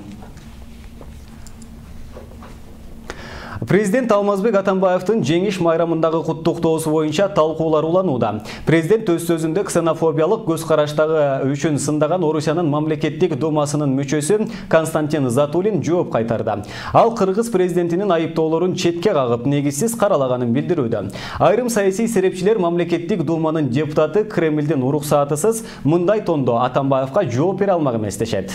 Президент Алмазбек Атамбаевдин жеңиш майрамындагы куттуктоосу боюнча талкуулар уланууда. Президент өз сөзүндө ксенофобиялык көз караштагы үчүн сындаган Орусиянын мамлекеттик думасынын мүчөсү Константин Затулин жооп кайтарды. Ал Кыргыз президентинин айыптоолорун четке кагып, негизсиз каралаганын билдирүүдө. Айрым саясий серепчилер мамлекеттик думанын депутаты Кремлдин уруксаатысыз мындай тондо Атамбаевга жооп бере алмак эмес дешет.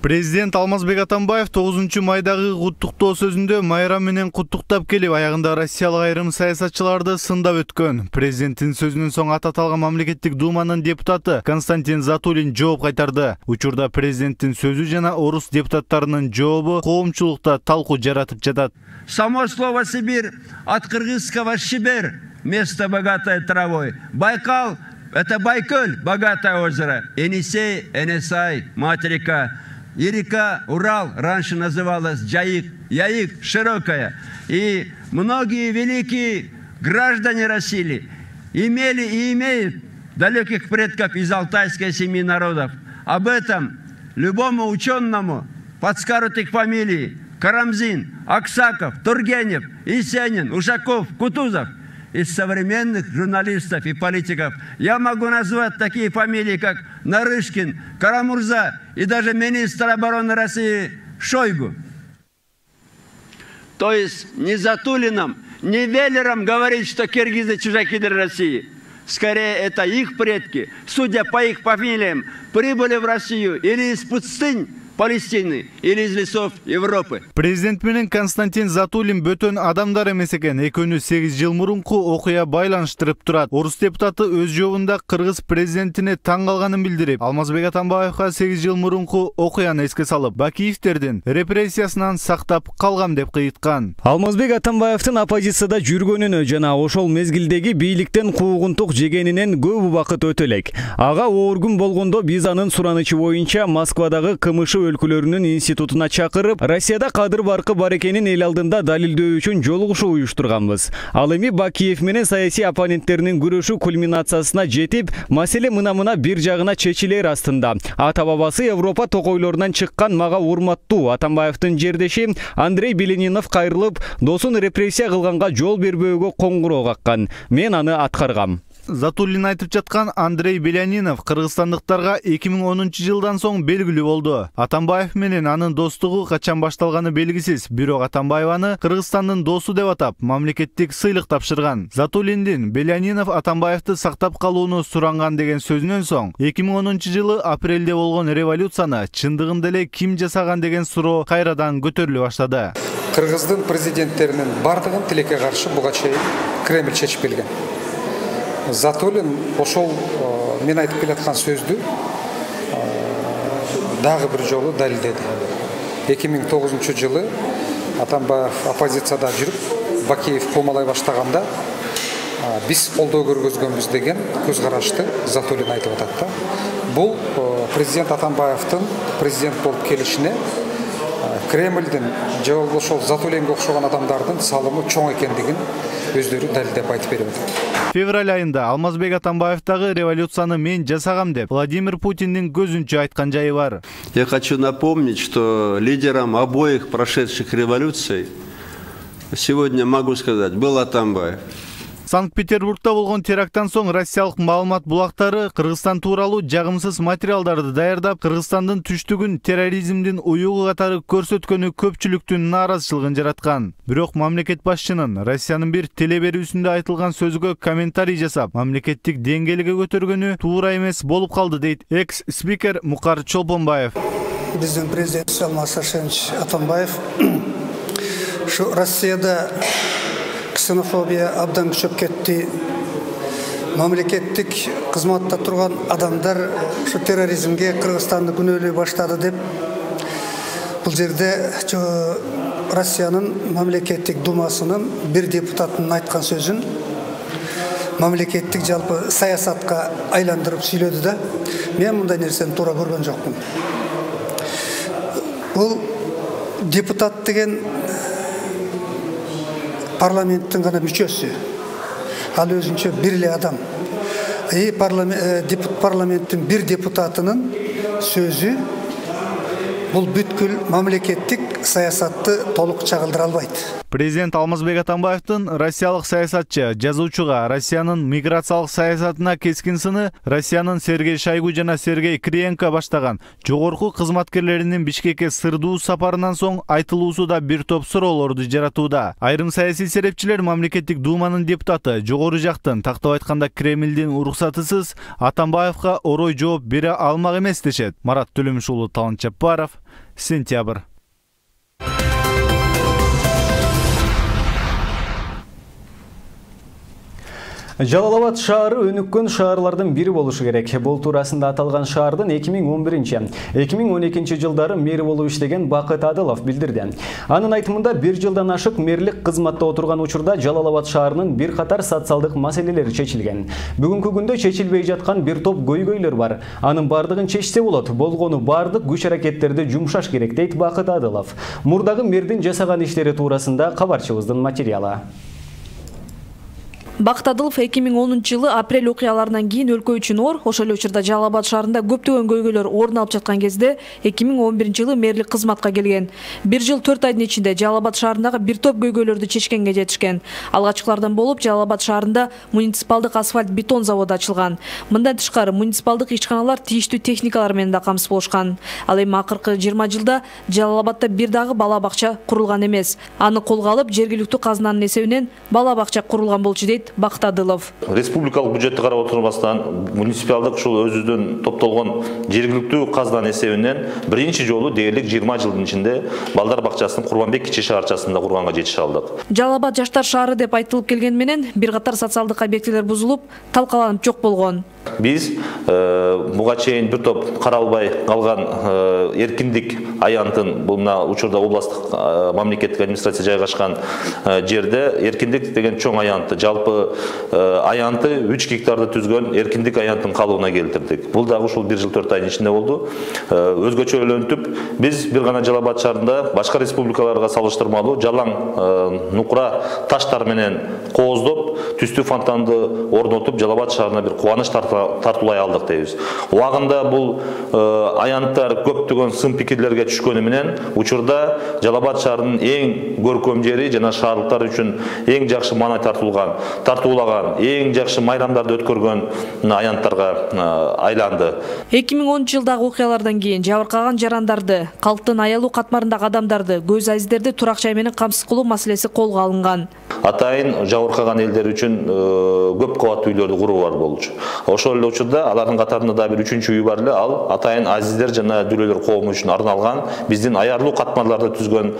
Президент Алмазбек Атамбаев тогузунчу майдагы куттуктоо сөзүндө майрам менен куттуктап келип, аягында россиялык айрым саясатчыларды сындап өткөн. Президенттин сөзүнөн соң аты аталган мамлекеттик думанын депутаты Константин Затулин жооп кайтарды. Учурда президенттин сөзү жана орус депутаттарынын жообу коомчулукта талкуу жаратып жатат. Само слово Сибирь от кыргызского Шибер, место богатое травой. Байкал — это Байкаль, богатое озеро. Енисей, Энисай, мать река. И река Урал раньше называлась Джаик, Яик, широкая. И многие великие граждане России имели и имеют далеких предков из алтайской семьи народов. Об этом любому ученому подскажут их фамилии: Карамзин, Аксаков, Тургенев, Есенин, Ушаков, Кутузов. Из современных журналистов и политиков я могу назвать такие фамилии, как Нарышкин, Карамурза и даже министр обороны России Шойгу. То есть не Затулиным, не Веллером говорить, что киргизы чужаки для России. Скорее, это их предки, судя по их фамилиям, прибыли в Россию или из пустынь Палестины или из лесов Европы. Президент менен Константин Затулин бөтөн адамдар эмес экен. Экөөнү сегиз жыл мурунку окуя байланыштырып турат. Орус депутаты өз жообунда кыргыз президентине таң калганын билдирип, Алмазбек Атамбаевга сегиз жыл мурунку окуяны эске салып, Бакиевтердин репрессиясынан сактап калгам деп кыйыткан. Алмазбек Атамбаевдин оппозицияда жүргөнүнө жана ошол мезгилдеги бийликтен куугунтук жегенинен көп убакыт өтө элек. Ага оор күн болгондо биз анын суранычы боюнча Москвадагы КМШ өлкөлөрүнүн институтуна чакырып, Россияда кадыр баркы бар экенин эл алдында далилдөө үчүн жолугушуу уюштурганбыз. Ал эми Бакиев менен саясий оппоненттеринин күрөшү кульминациясына жетип, маселе мына-мына бир жагына чечилер астында. Ата бабасы Европа токойлорунан чыккан мага урматтуу Атамбаевдин жердеши Андрей Беленинов кайрылып, досун репрессия кылганга жол бербөөгө коңгуроо каккан. Мен аны аткаргам. Затулин айтып жаткан Андрей Белянинов кыргызстандыктарга эки миң онунчу жылдан соң белгилүү болду. Атамбаев менен анын достугу качан башталганы белгисиз, бирок Атамбаеваны Кыргызстандын досу деп атап, мамлекеттик сыйлык тапшырган. Затулиндин Белянинов Атамбаевди сактап калууну суранган деген сөзүнөн соң, эки миң онунчу жылы апрелде болгон революцияны чындыгында эле ким жасаган деген суроо кайрадан көтөрүлө баштады. Кыргыздын президенттеринин бардыгын тилекке каршы буга чейин Кремль чечип келген. Затулин ошол мен айтып келаткан сөздү дагы бир жолу далилдеди. эки миң тогузунчу жылы Атамбаев оппозицияда жүрүп, Бакиев кылмалай баштаганда биз колдоо көргөзгөнбүз деген көз карашты Затулин айтып атат да. Бул президент Атамбаевдин президент болуп келишине Кремлдин же болбосо ошол Затулинге окшогон адамдардын салымы чоң экендигин өздөрү далилдеп айтып берип атат. Февраль айында Алмазбек Атамбаевдагы революцияны мен жасагам деп Владимир Путиндин көзүнчө айткан жайы бар. Я хочу напомнить, что лидером обоих прошедших революций сегодня могу сказать был Атамбаев. Санкт-Петербургда болгон теракттан соң россиялык маалымат булактары Кыргызстан тууралуу жагымсыз материалдарды даярдап, Кыргызстандын түштүгүн терроризмдин уюгу катары көрсөткөнү көпчүлүктүн нааразычылыгын жараткан. Бирок мамлекет башчынын Россиянын бир телеберүүсүндө айтылган сөзгө комментарий жасап, мамлекеттик деңгээлге көтөргөнү туура эмес болуп калды дейт экс-спикер Мукар Чолпонбаев. Биздин президент Алмаз Сашенович Атамбаев ушу Россияда ксенофобия абдан күчөп кетти. Мамлекеттик кызматта турган адамдар ушу терроризмге Кыргызстанды күнөөлөй баштады деп бул жерде Россиянын мамлекеттик думасынын бир депутатынын айткан сөзүн мамлекеттик жалпы саясатка айландырып сүйлөдү да. Мен мындай нерсени туура көргөн жокмун. Бул депутат деген парламенттин гана мүчөсү. Ал өзүнчө бир эле адам. И парламенттин бир депутатынын сөзү бул бүткүл мамлекеттик саясатты толук чагылдыра албайт. Президент Алмазбек Атамбаевдин россиялык саясатчы, жазуучуга Россиянын миграциялык саясатына кескин сыны Россиянын Сергей Шойгу жана Сергей Кириенко баштаган жогорку кызматкерлеринин Бишкекке сырдуу сапарынан соң айтылуусу да бир топ суроолорду жаратууда. Айрым саясий серепчилер мамлекеттик думанын депутаты, жогору жактын, тактап айтканда Кремлдин уруксатысыз Атамбаевга орой жооп бере алмак эмес дешет. Марат Төлөмүш уулу, Талант Жаппаров, Сентябрь. Жалал Абад шаары өнүккөн шаарлардын бири болушу керек. Бул туурасында аталган шаардын эки миң он биринчи — эки миң он экинчи жылдары мэри болуп иштеген Бакыт Адылов билдирди. Анын айтымында бир жылдан ашык мэрлик кызматта отурган учурда Жалал Абад шаарынын бир катар социалдык маселелери чечилген. Бүгүнкү күндө чечилбей жаткан бир топ көйгөйлөр бар. Анын бардыгын чечсе болот. Болгону бардык күч-аракеттерди жумшаш керек, дейт Бакыт Адылов. Мурдагы мэрдин жасаган иштери туурасында кабарчыбыздын материалы. Бакыт Адылов эки миң онунчу жылы апрель окуяларынан кийин өлкө үчүн оор, ошол эле учурда Жалал Абад шаарында көптөгөн көйгөйлөр орун алып жаткан кезде эки миң он биринчи жылы мэрлик кызматка келген. Бир жыл төрт айдын ичинде Жалал Абад шаарындагы бир топ көйгөйлөрдү чечкенге жетишкен. Алгачкылардан болуп Жалал Абад шаарында муниципалдык асфальт бетон заводу ачылган. Мындан тышкары муниципалдык ишканалар тийиштүү техникалар менен да камсыз болушкан. Ал эми акыркы жыйырма жылда Жалал Абадда бир дагы бала бакча курулган эмес. Аны колго алып жергиликтүү казынанын эсебинен бала бакча курулган болчу, дейт Бакыт Адылов. Республикалык бюджетти карап отурбастан муниципалдык ушул өзүнүн топтолгон жергиликтүү казынанын эсебинен биринчи жолу дээрлик жыйырма жылдын ичинде балдар бакчасын Курманбек кичи шаарчасында курганга жетише алдык. Жалал Абад жаштар шаары деп айтылып келген менен бир катар социалдык объектилер бузулуп, талкаланып жок болгон. Биз буга чейин бир топ каралбай калган эркиндик аянтын, бул мына учурда областтык мамлекеттик администрация жайгашкан жерде эркиндик деген чоң аянтты, жалпы аянты үч гектарды түзгөн эркиндик аянтын калыбына келтирдик. Бул дагы ушул бир жыл төрт айдын ичинде болду. Өзгөчөлөнтүп, биз бир гана Жалал Абад шаарында башка республикаларга салыштырмалуу жалаң нукура таштар менен кооздоп, түстүү фонтанды орнотуп, Жалал Абад шаарына бир кубаныч тартуулай алдык дейбиз. Убагында бул аянттар көптөгөн сын пикирлерге түшкөнү менен учурда Жалал Абад шаарынын эң көркөм жери жана шаарлыктар үчүн эң жакшы маанай тартуулган, тартуулаган, эң жакшы майрамдарды өткөргөн аянттарга айланды. эки миң онунчу жылдагы окуялардан кийин жабыркаган жарандарды, калктын аялуу катмарындагы адамдарды, көз азиздерди турак жай менен камсыз кылуу маселеси колго алынган. Атайын жабыркаган элдер үчүн көп кабаттуу үйлөрдү куруу бар болчу. Ошол эле учурда алардын катарында да бир үчүнчү үй бар эле, ал атайын азиздер жана дүрөлөр коому үчүн арналган биздин аярлуу катмарларды түзгөн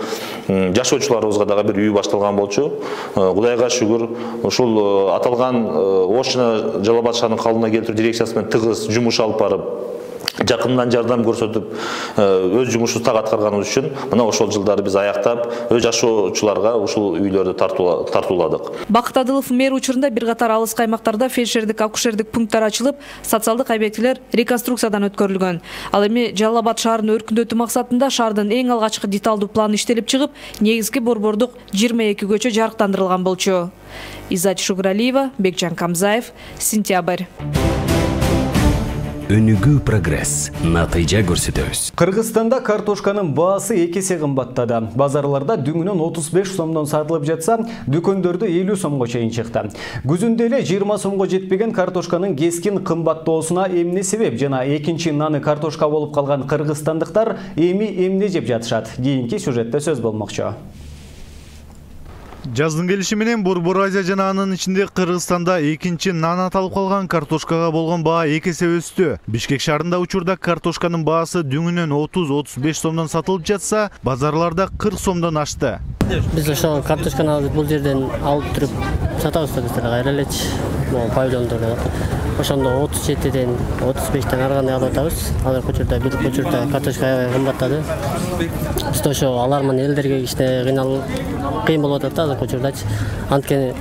жашоочуларыбызга дагы бир үй башталган болчу. Кудайга шүгүр, ушул аталган Ош жана Жалал Абад шаарынын калыбына келтирүү дирекциясы менен тыгыз жумуш алып барып, жакындан жардам көрсөтүп, өз жумушубузду так аткарганыбыз үчүн мына ошол жылдары биз аяктап, өз жашоочуларга ушул үйлөрдү тартууладык. Бакыт Адылов мэр учурунда бир катар алыс каймактарда фельдшердик, акушердик пункттар ачылып, социалдык объектилер реконструкциядан өткөрүлгөн. Ал эми Жалал Абад шаарын өркүндөтүү максатында шаардын эң алгачкы деталдуу планы иштелип чыгып, негизги борбордук жыйырма эки көчө жарыктандырылган болчу. Иззат Шугуралиева, Бекжан Камзаев, Сентябрь. Өнүгүү прогресс, натыйжа көрсөтөбүз. Кыргызстанда картошканын баасы эки эсе кымбаттады. Базарларда дүңүнөн отуз беш сомдон сатылып жатса, дүкөндөрдө элүү сомго чейин чыкты. Күзүндө эле жыйырма сомго жетпеген картошканын кескин кымбаттоосуна эмне себеп жана экинчи наны картошка болуп калган кыргызстандыктар эми эмне жеп жатышат? Кийинки сюжетте сөз болмокчу. Жаздын келиши менен Борбор Азия жана анын ичинде Кыргызстанда экинчи нан аталып калган картошкага болгон баа эки эсе өстү. Бишкек шаарында учурда картошканын баасы дүңүнөн отуз отуз беш сомдон сатылып жатса, базарларда кырк сомдон ашты. Биз ошо картошканы алып бул жерден алып туруп сатабыз да, кайра элечи. Могу павильондордон. ошондо отуз жетиден отуз бештен ары кандай алып атабыз. Азыркы учурда бир учурда картошка аябай кымбаттады. Биз ошо алар менен элдерге кичине кыйнал кыйын болуп атат азыркы учурдачы. Анткени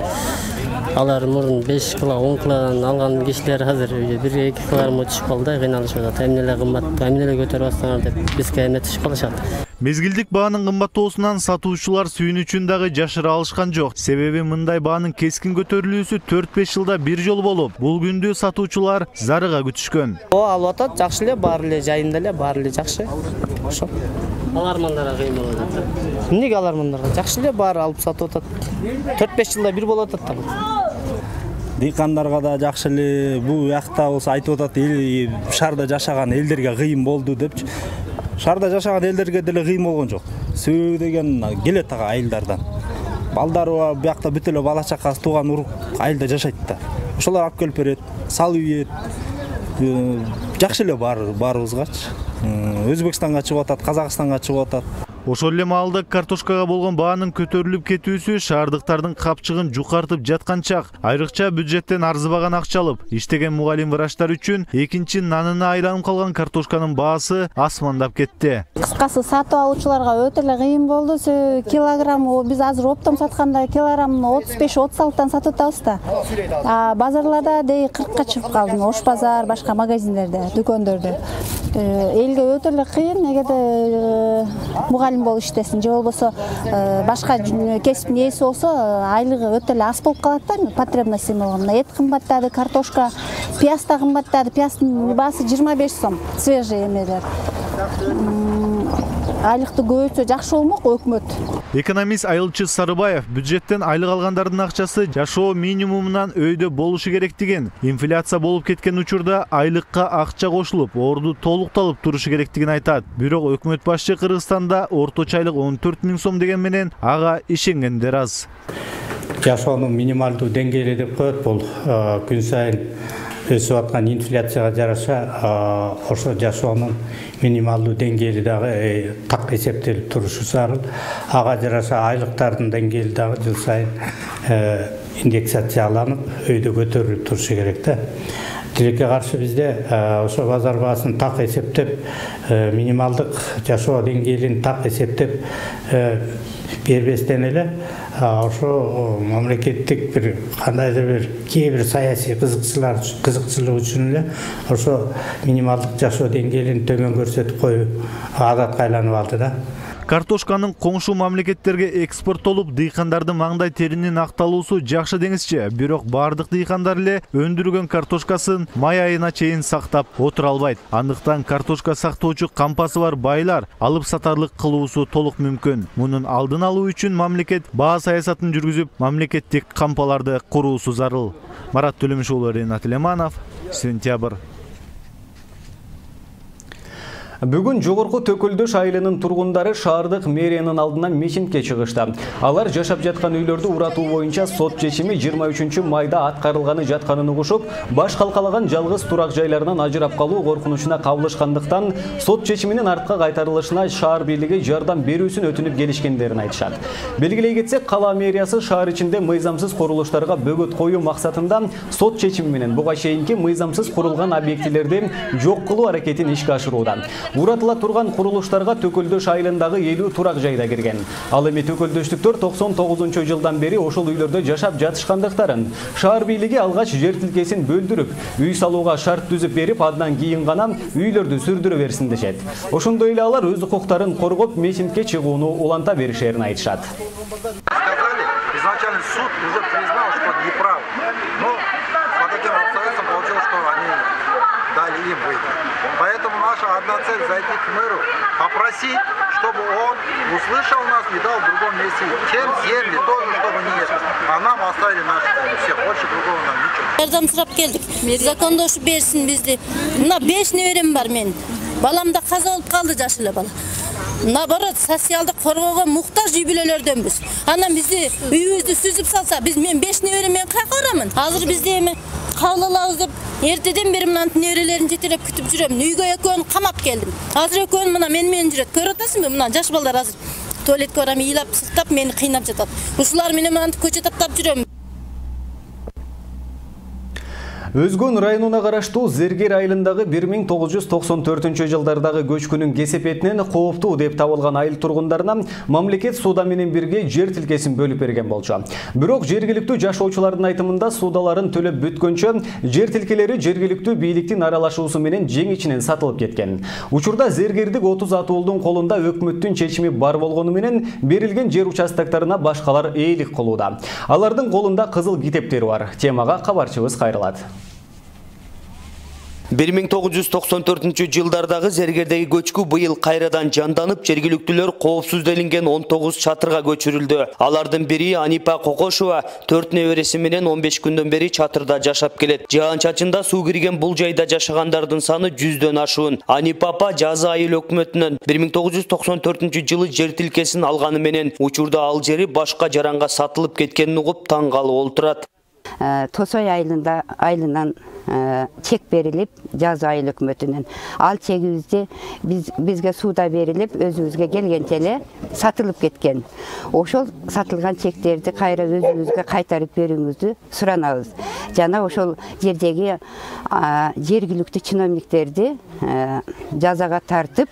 алар мурун беш кыла он кыладан алган кишилер азыр бир эки кылагарымга түшүп калды, кыйналышып атат. Эмнеле кымбат, эмнеле көтөрүп атсаңар деп бизге эметишип калышат. Мезгилдик баанын кымбаттоосунан сатуучулар сүйүнүчүн дагы жашыра алышкан жок. Себеби мындай баанын кескин көтөрүлүүсү төрт беш жылда бир жолу болуп, бул күндү сатуучулар зарыга күтүшкөн. О, алып атат, жакшы эле, баары эле жайында эле, баары эле жакшы. Ошо. Алармандарга кыйын болуп атат. Эмнеге алармандарга? Жакшы эле, баары алып сатып атат. төрт беш жылда бир болуп атат да. Дыйкандарга да жакшы эле, бул жакта болсо айтып атат, эл шаарда жашаган элдерге кыйын болду депчи. Шаарда жашаган элдерге деле кыйын болгон жок. Себеби деген келет ага айылдардан. Балдары биякта бүт эле бала чакасы тууган урук айылда жашайт да. Ошолор алып келип берет, салып ийет. Жакшы эле баарыбызгачы. Өзбекстанга чыгып атат, Казакстанга чыгып атат. Ошол эле маалда картошкага болгон баанын көтөрүлүп кетүүсү шаардыктардын капчыгын жукартып жаткан чак. Айрыкча бюджеттен арзыбаган акча алып иштеген мугалим врачтар үчүн экинчи нанына айланып калган картошканын баасы асмандап кетти. Кыскасы сатып алуучуларга өтө эле кыйын болду. Килограмм биз азыр оптом сатканда килограмм отуз беш отуз алтыдан сатып атабыз да. А базарларда дей кыркка чыгып калды. Ош базар, башка магазиндерде, дүкөндөрдө. Элге өтө эле кыйын, эгерде мугалим болуп иштесин же болбосо башка кесиптин ээси болсо айлыгы өтө эле аз болуп калат да, потребности болгондо. Эт кымбаттады, картошка, пияз да кымбаттады. Пияздын баасы жыйырма беш сом, свежий эмелер. Айлыкты көбөйтсө жакшы болмок өкмөт. Экономист Айылчы Сарыбаев бюджеттен айлык алгандардын акчасы жашоо минимумунан өйдө болушу керек деген. Инфляция болуп кеткен учурда айлыкка акча кошулуп, орду толукталып турушу керектигин айтат. Бирок өкмөт башчы Кыргызстанда орточо айлык он төрт миң сом деген менен ага ишенгендер аз. Жашоонун минималдуу деңгээли деп коет, бул күн сайын өсүп аткан инфляцияга жараша ошо жашоонун минималдуу деңгээли дагы так эсептелип турушу зарыл. Ага жараша айлыктардын деңгээли дагы жыл сайын индексацияланып, өйдө көтөрүлүп турушу керек да. Тилекке каршы бизде ошо базар баасын так эсептеп, минималдык жашоо деңгээлин так эсептеп бербестен эле ошо мамлекеттик бир кандайдыр бир кээ бир саясий кызыкчылар кызыкчылык үчүн эле ошо минималдык жашоо деңгээлин төмөн көрсөтүп коюу адатка айланып алды да. Картошканын коңшу мамлекеттерге экспорттолуп, дыйкандардын маңдай теринин акталуусу жакшы деңизчи, бирок бардык дыйкандар эле өндүргөн картошкасын май айына чейин сактап отура албайт. Андыктан картошка сактоочу кампасы бар байлар алып сатарлык кылуусу толук мүмкүн. Мунун алдын алуу үчүн мамлекет баа саясатын жүргүзүп, мамлекеттик кампаларды куруусу зарыл. Марат Төлөмүш уулу, Ренат Леманов, Сентябрь. Бүгүн Жогорку Төкөлдөш айылынын тургундары шаардык мэриянын алдына митингге чыгышты. Алар жашап жаткан үйлөрдү уратуу боюнча сот чечими жыйырма үчүнчү майда аткарылганы жатканын угушуп, баш калкалаган жалгыз турак жайларынан ажырап калуу коркунучуна кабылышкандыктан сот чечиминин артка кайтарылышына шаар бийлиги жардам берүүсүн өтүнүп келишкендерин айтышат. Белгилей кетсек, кала мэриясы шаар ичинде мыйзамсыз курулуштарга бөгөт коюу максатында сот чечими менен буга чейинки мыйзамсыз курулган объектилерди жок кылуу аракетин ишке ашырууда. Уратыла турган курулуштарга Төкөлдөш айылындагы элүү турак жайда кирген. Ал эми төкөлдөштүктөр токсон тогузунчу жылдан бери ошол үйлөрдө жашап жатышкандыктарын, шаар бийлиги алгач жер тилкесин бөлдүрүп, үй салууга шарт түзүп берип, андан кийин гана үйлөрдү сүрдүрө берсин дешет. Ошондой эле алар өз укуктарын коргоп, митингге чыгууну уланта беришерин айтышат. Изначально суд уже признал, что неправ. Но по таким обстоятельствам получилось, что они дали им выйти. Поэтому наша одна цель зайти к мэру, попросить, чтобы он услышал нас и дал в другом месте тем земли, тоже чтобы не есть. А нам оставили наши земли. Все, больше другого нам ничего. Жардам сурап келдик. Закондошу берсин бизди. Мына беш неберем бар мен. Балам да каза болуп калды, жаш эле бала. Наоборот, социалдык коргоого муктаж үй бүлөлөрдөнбүз. Анан бизди үйүбүздү сүзүп салса, биз мен беш неберем мен кайка барамын. Азыр бизди эми кабыл алабыз деп эртеден бери мына неберелерин жетелеп күтүп жүрөм. Үйгө экөөнү камап келдим. Азыр экөөнү мына мен менен жүрөт. Көрүп атасыңбы? Мына жаш балдар азыр туалетке барам, ыйлап, сыктап мени кыйнап жатат. Ушулар менен мына көчө таптап жүрөм. Өзгөн районуна караштуу Зергер айылындагы бир миң тогуз жүз токсон төртүнчү жылдардагы көчкүнүн кесепетинен кооптуу деп табылган айыл тургундарына мамлекет суда менен бирге жер тилкесин бөлүп берген болчу. Бирок жергиликтүү жашоочулардын айтымында судаларын төлөп бүткөнчө жер тилкелери жергиликтүү бийликтин аралашуусу менен жең ичинен сатылып кеткен. Учурда Зергердик отуз атуулдун колунда өкмөттүн чечими бар болгону менен берилген жер участоктарына башкалар ээлик кылууда. Алардын колунда кызыл китептери бар. Темага кабарчыбыз кайрылат. бир миң тогуз жүз токсон төртүнчү жылдардагы Зергердеги көчкү быйыл кайрадан жанданып, жергиликтүүлөр коопсуз делинген он тогуз чатырга көчүрүлдү. Алардын бири Анипа Кокошова төрт небереси менен он беш күндөн бери чатырда жашап келет. Жаан-чачында суу кирген бул жайда жашагандардын саны жүздөн ашуун. Анипа апа Жаза айыл өкмөтүнөн бир миң тогуз жүз токсон төртүнчү жылы жер тилкесин алганы менен учурда ал жери башка жаранга сатылып кеткенин угуп таң калып олтурат. Тосой айылында айылынан чек берилип, Жаза айыл өкмөтүнөн. Ал чегибизди биз бизге суда берилип, өзүбүзгө келгенче эле сатылып кеткен. Ошол сатылган чектерди кайра өзүбүзгө кайтарып берүүңүздү суранабыз. Жана ошол жердеги жергиликтүү чиновниктерди жазага тартып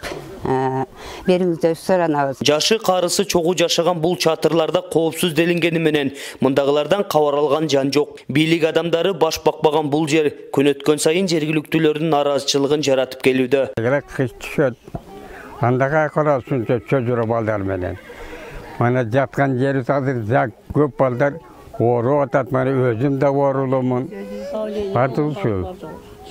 берүүңүздү суранабыз. Жашы карысы чогуу жашаган бул чатырларда коопсуз делингени менен мындагылардан кабар алган жан жок. Бийлик адамдары баш бакпаган бул жер күн өткөн сайын жергиликтүүлөрдүн наразычылыгын жаратып келүүдө. Кыш түшөт. Андага карасын чөчөрө балдар менен. Мана жаткан жери азыр жак көп балдар ооруп атат. Мана өзүм да оорулумун. Батылчу.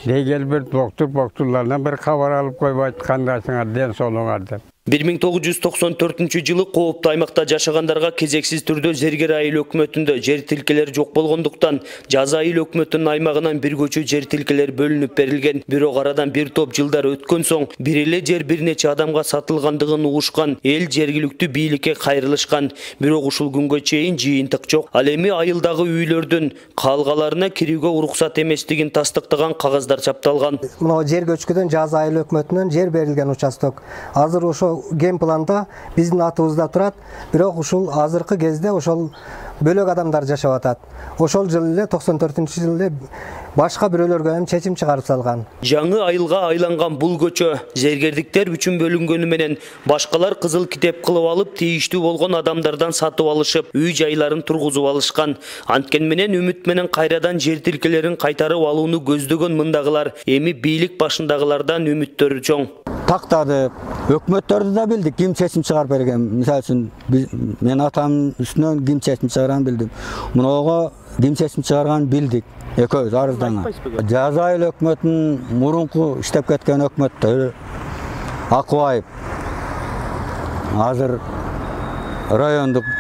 Дегел бир доктор боктурлардан бир кабар алып койбойт, кандайсыңар, ден соолуңар деп. бир миң тогуз жүз токсон төртүнчү жылы кооптуу аймакта жашагандарга кезексиз түрдө Зергер айыл өкмөтүндө жер тилкелери жок болгондуктан Жаза айыл өкмөтүнүн аймагынан бир көчү жер тилкелери бөлүнүп берилген. Бирок арадан бир топ жылдар өткөн соң бир эле жер бир нече адамга сатылгандыгын угушкан эл жергиликтүү бийликке кайрылышкан. Бирок ушул күнгө чейин жыйынтык жок. Ал эми айылдагы үйлөрдүн калгаларына кирүүгө уруксат эместигин тастыктаган кагаздар чапталган. Мына жер көчкүдөн Жаза айыл өкмөтүнөн жер берилген участок. Азыр ошо ген планда биздин атыбызда турат, бирок ушул азыркы кезде ошол бөлөк адамдар жашап атат. Ошол жылы эле токсон төртүнчү жылы башка бирөөлөргө эми чечим чыгарып салган. Жаңы айылга айланган бул көчө зергердиктер үчүн бөлүнгөнү менен башкалар кызыл китеп кылып алып, тийиштүү болгон адамдардан сатып алышып, үй жайларын тургузуп алышкан. Анткен менен үмүт менен кайрадан жер тилкелерин кайтарып алууну көздөгөн мындагылар эми бийлик башындагылардан үмүттөрү чоң. Тактады, өкмөттөрдү да билдик, ким чечим чыгарып берген. Мисалы үчүн мен атамдын үстүнөн ким чечим чыгарганын билдим. Мунага ким чечим чыгарганын билдик. Экөөбүз арыздана. Жаза айыл өкмөтүнүн мурунку иштеп кеткен өкмөттөрү Акыбаев азыр райондук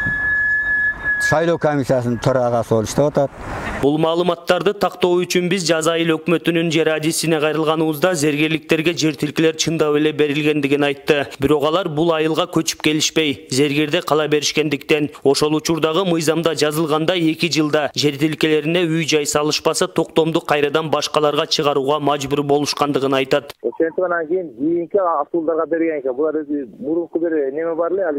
шайлоо комиссиясынын төрагасы болуп иштеп атат. Бул маалыматтарды тактоо үчүн биз Жаза айыл өкмөтүнүн жер адисине кайрылганыбызда зергерликтерге жер тилкелер чындап эле берилгендигин айтты. Бирок алар бул айылга көчүп келишпей, Зергерде кала беришкендиктен, ошол учурдагы мыйзамда жазылгандай эки жылда жер тилкелерине үй жай салышпаса токтомду кайрадан башкаларга чыгарууга мажбур болушкандыгын айтат. Ошентип анан кийин кийинки атуулдарга берген экен. Булар мурунку бир неме бар эле, ал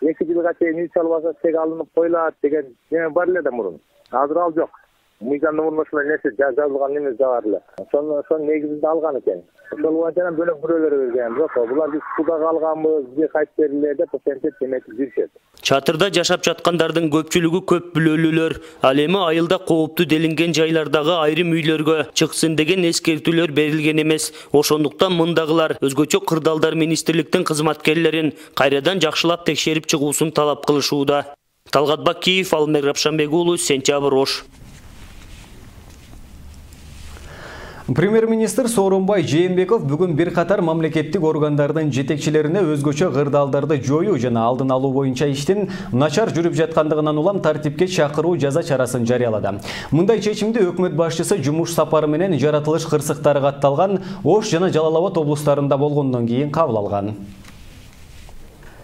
эки жылга чейин үй салбаса чек алынып коюлат деген неме бар эле да мурун. Азыр ал жок. Мыйзамда мурун ошол нерсе жазылган эмес бар эле. Ошону ошонун негизинде алган экен. Ошол боюнча бөлөк бирөөлөр берген. Бирок булар биз суда калганбыз, бизге кайтып бериле деп ошентип эметип жүрүшөт. Чатырда жашап жаткандардын көпчүлүгү көп билүүлүүлөр. Ал эми айылда кооптуу делинген жайлардагы айрым үйлөргө чыксын деген эскертүүлөр берилген эмес. Ошондуктан мындагылар өзгөчө кырдаалдар министрликтин кызматкерлерин кайрадан жакшылап текшерип чыгуусун талап кылышууда. Талгат Бакиев, Алмер Рапшанбек уулу, Сентябрь, Ош. Премьер-министр Сооронбай Жээнбеков бүгүн бир катар мамлекеттик органдардын жетекчилерине өзгөчө кырдаалдарды жоюу жана алдын алуу боюнча иштин начар жүрүп жаткандыгынан улам тартипке чакыруу жаза чарасын жарыялады. Мындай чечимди өкмөт башчысы жумуш сапары менен жаратылыш кырсыктары катталган Ош жана Жалал Абад облустарында болгондон кийин кабыл алган.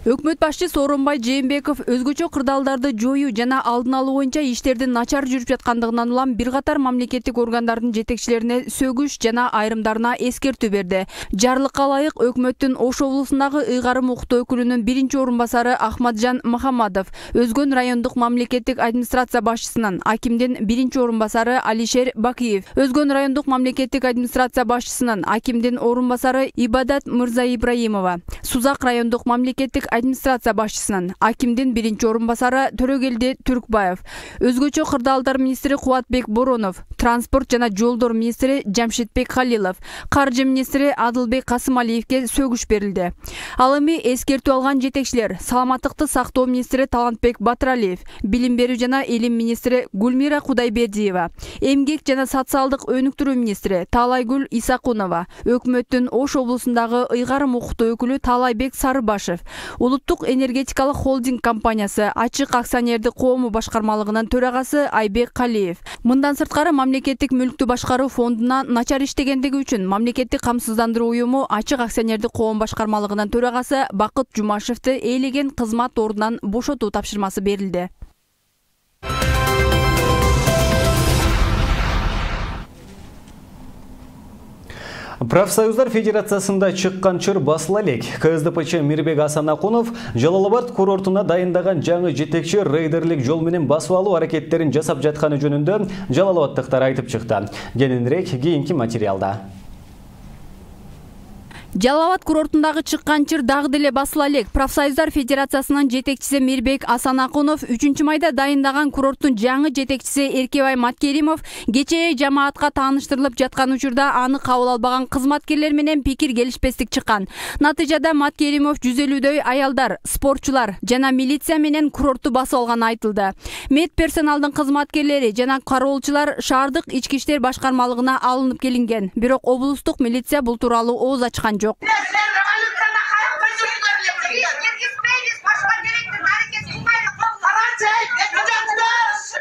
Өкмөт башчысы Сооронбай Жээнбеков өзгөчө кырдаалдарды жоюу жана алдын алуу боюнча иштердин начар жүрүп жаткандыгынан улам бир катар мамлекеттик органдардын жетекчилерине сөгүш жана айрымдарына эскертүү берди. Жарлыкка ылайык өкмөттүн Ош облусундагы ыйгарым укуктуу өкүлүнүн биринчи орун басары Ахматжан Махамадов, Өзгөн райондук мамлекеттик администрация башчысынын акимдин биринчи орун басары Алишер Бакиев, Өзгөн райондук мамлекеттик администрация башчысынын акимдин орун басары Ибадат Мырза Ибраимова, Сузак райондук мамлекеттик администрация башчысынын акимдин биринчи орун басары Төрөгелди Түркбаев, өзгөчө кырдаалдар министри Кубатбек Боронов, транспорт жана жолдор министри Жамшитбек Халилов, каржы министри Адылбек Касымалиевке сөгүш берилди. Ал эми эскертүү алган жетекчилер саламаттыкты сактоо министри Талантбек Батыралиев, билим берүү жана илим министри Гүлмира Кудайбердиева, эмгек жана социалдык өнүктүрүү министри Таалайгүл Исакунова, өкмөттүн Ош облусундагы ыйгарым укуктуу өкүлү Таалайбек Сарыбашев, Улуттук энергетикалык холдинг компаниясы Ачык акционердик коому башкармалыгынын төрагасы Айбек Калиев. Мындан сырткары мамлекеттик мүлктү башкаруу фондуна начар иштегендиги үчүн мамлекеттик камсыздандыруу уюму Ачык акционердик коому башкармалыгынын төрагасы Бакыт Жумашевди ээлеген кызмат ордунан бошотуу тапшырмасы берилди. Профсоюздар федерациясында чыккан чыр басыла элек. КСДПчы Мирбек Асанакунов Жалал-Абад курортуна дайындаган жаңы жетекчи рейдерлик жол менен басып алуу аракеттерин жасап жатканы жөнүндө Жалал-Абадтыктар айтып чыкты. Кененирээк кийинки материалда. Жалал-Абад курортундагы чыккан чыр дагы деле басыла элек. Профсоюздар федерациясынын жетекчиси Мирбек Асанакунов үчүнчү майда дайындаган курорттун жаңы жетекчиси Эркебай Маткеримов кечээ жамаатка тааныштырылып жаткан учурда аны кабыл албаган кызматкерлер менен пикир келишпестик чыккан. Натыйжада Маткеримов жүз элүүдөй аялдар, спортчулар жана милиция менен курортту басып алганы айтылды. Мед персоналдын кызматкерлери жана кароолчулар шаардык ички иштер башкармалыгына алынып келинген. Бирок облустук милиция бул тууралуу ооз ачкан жок.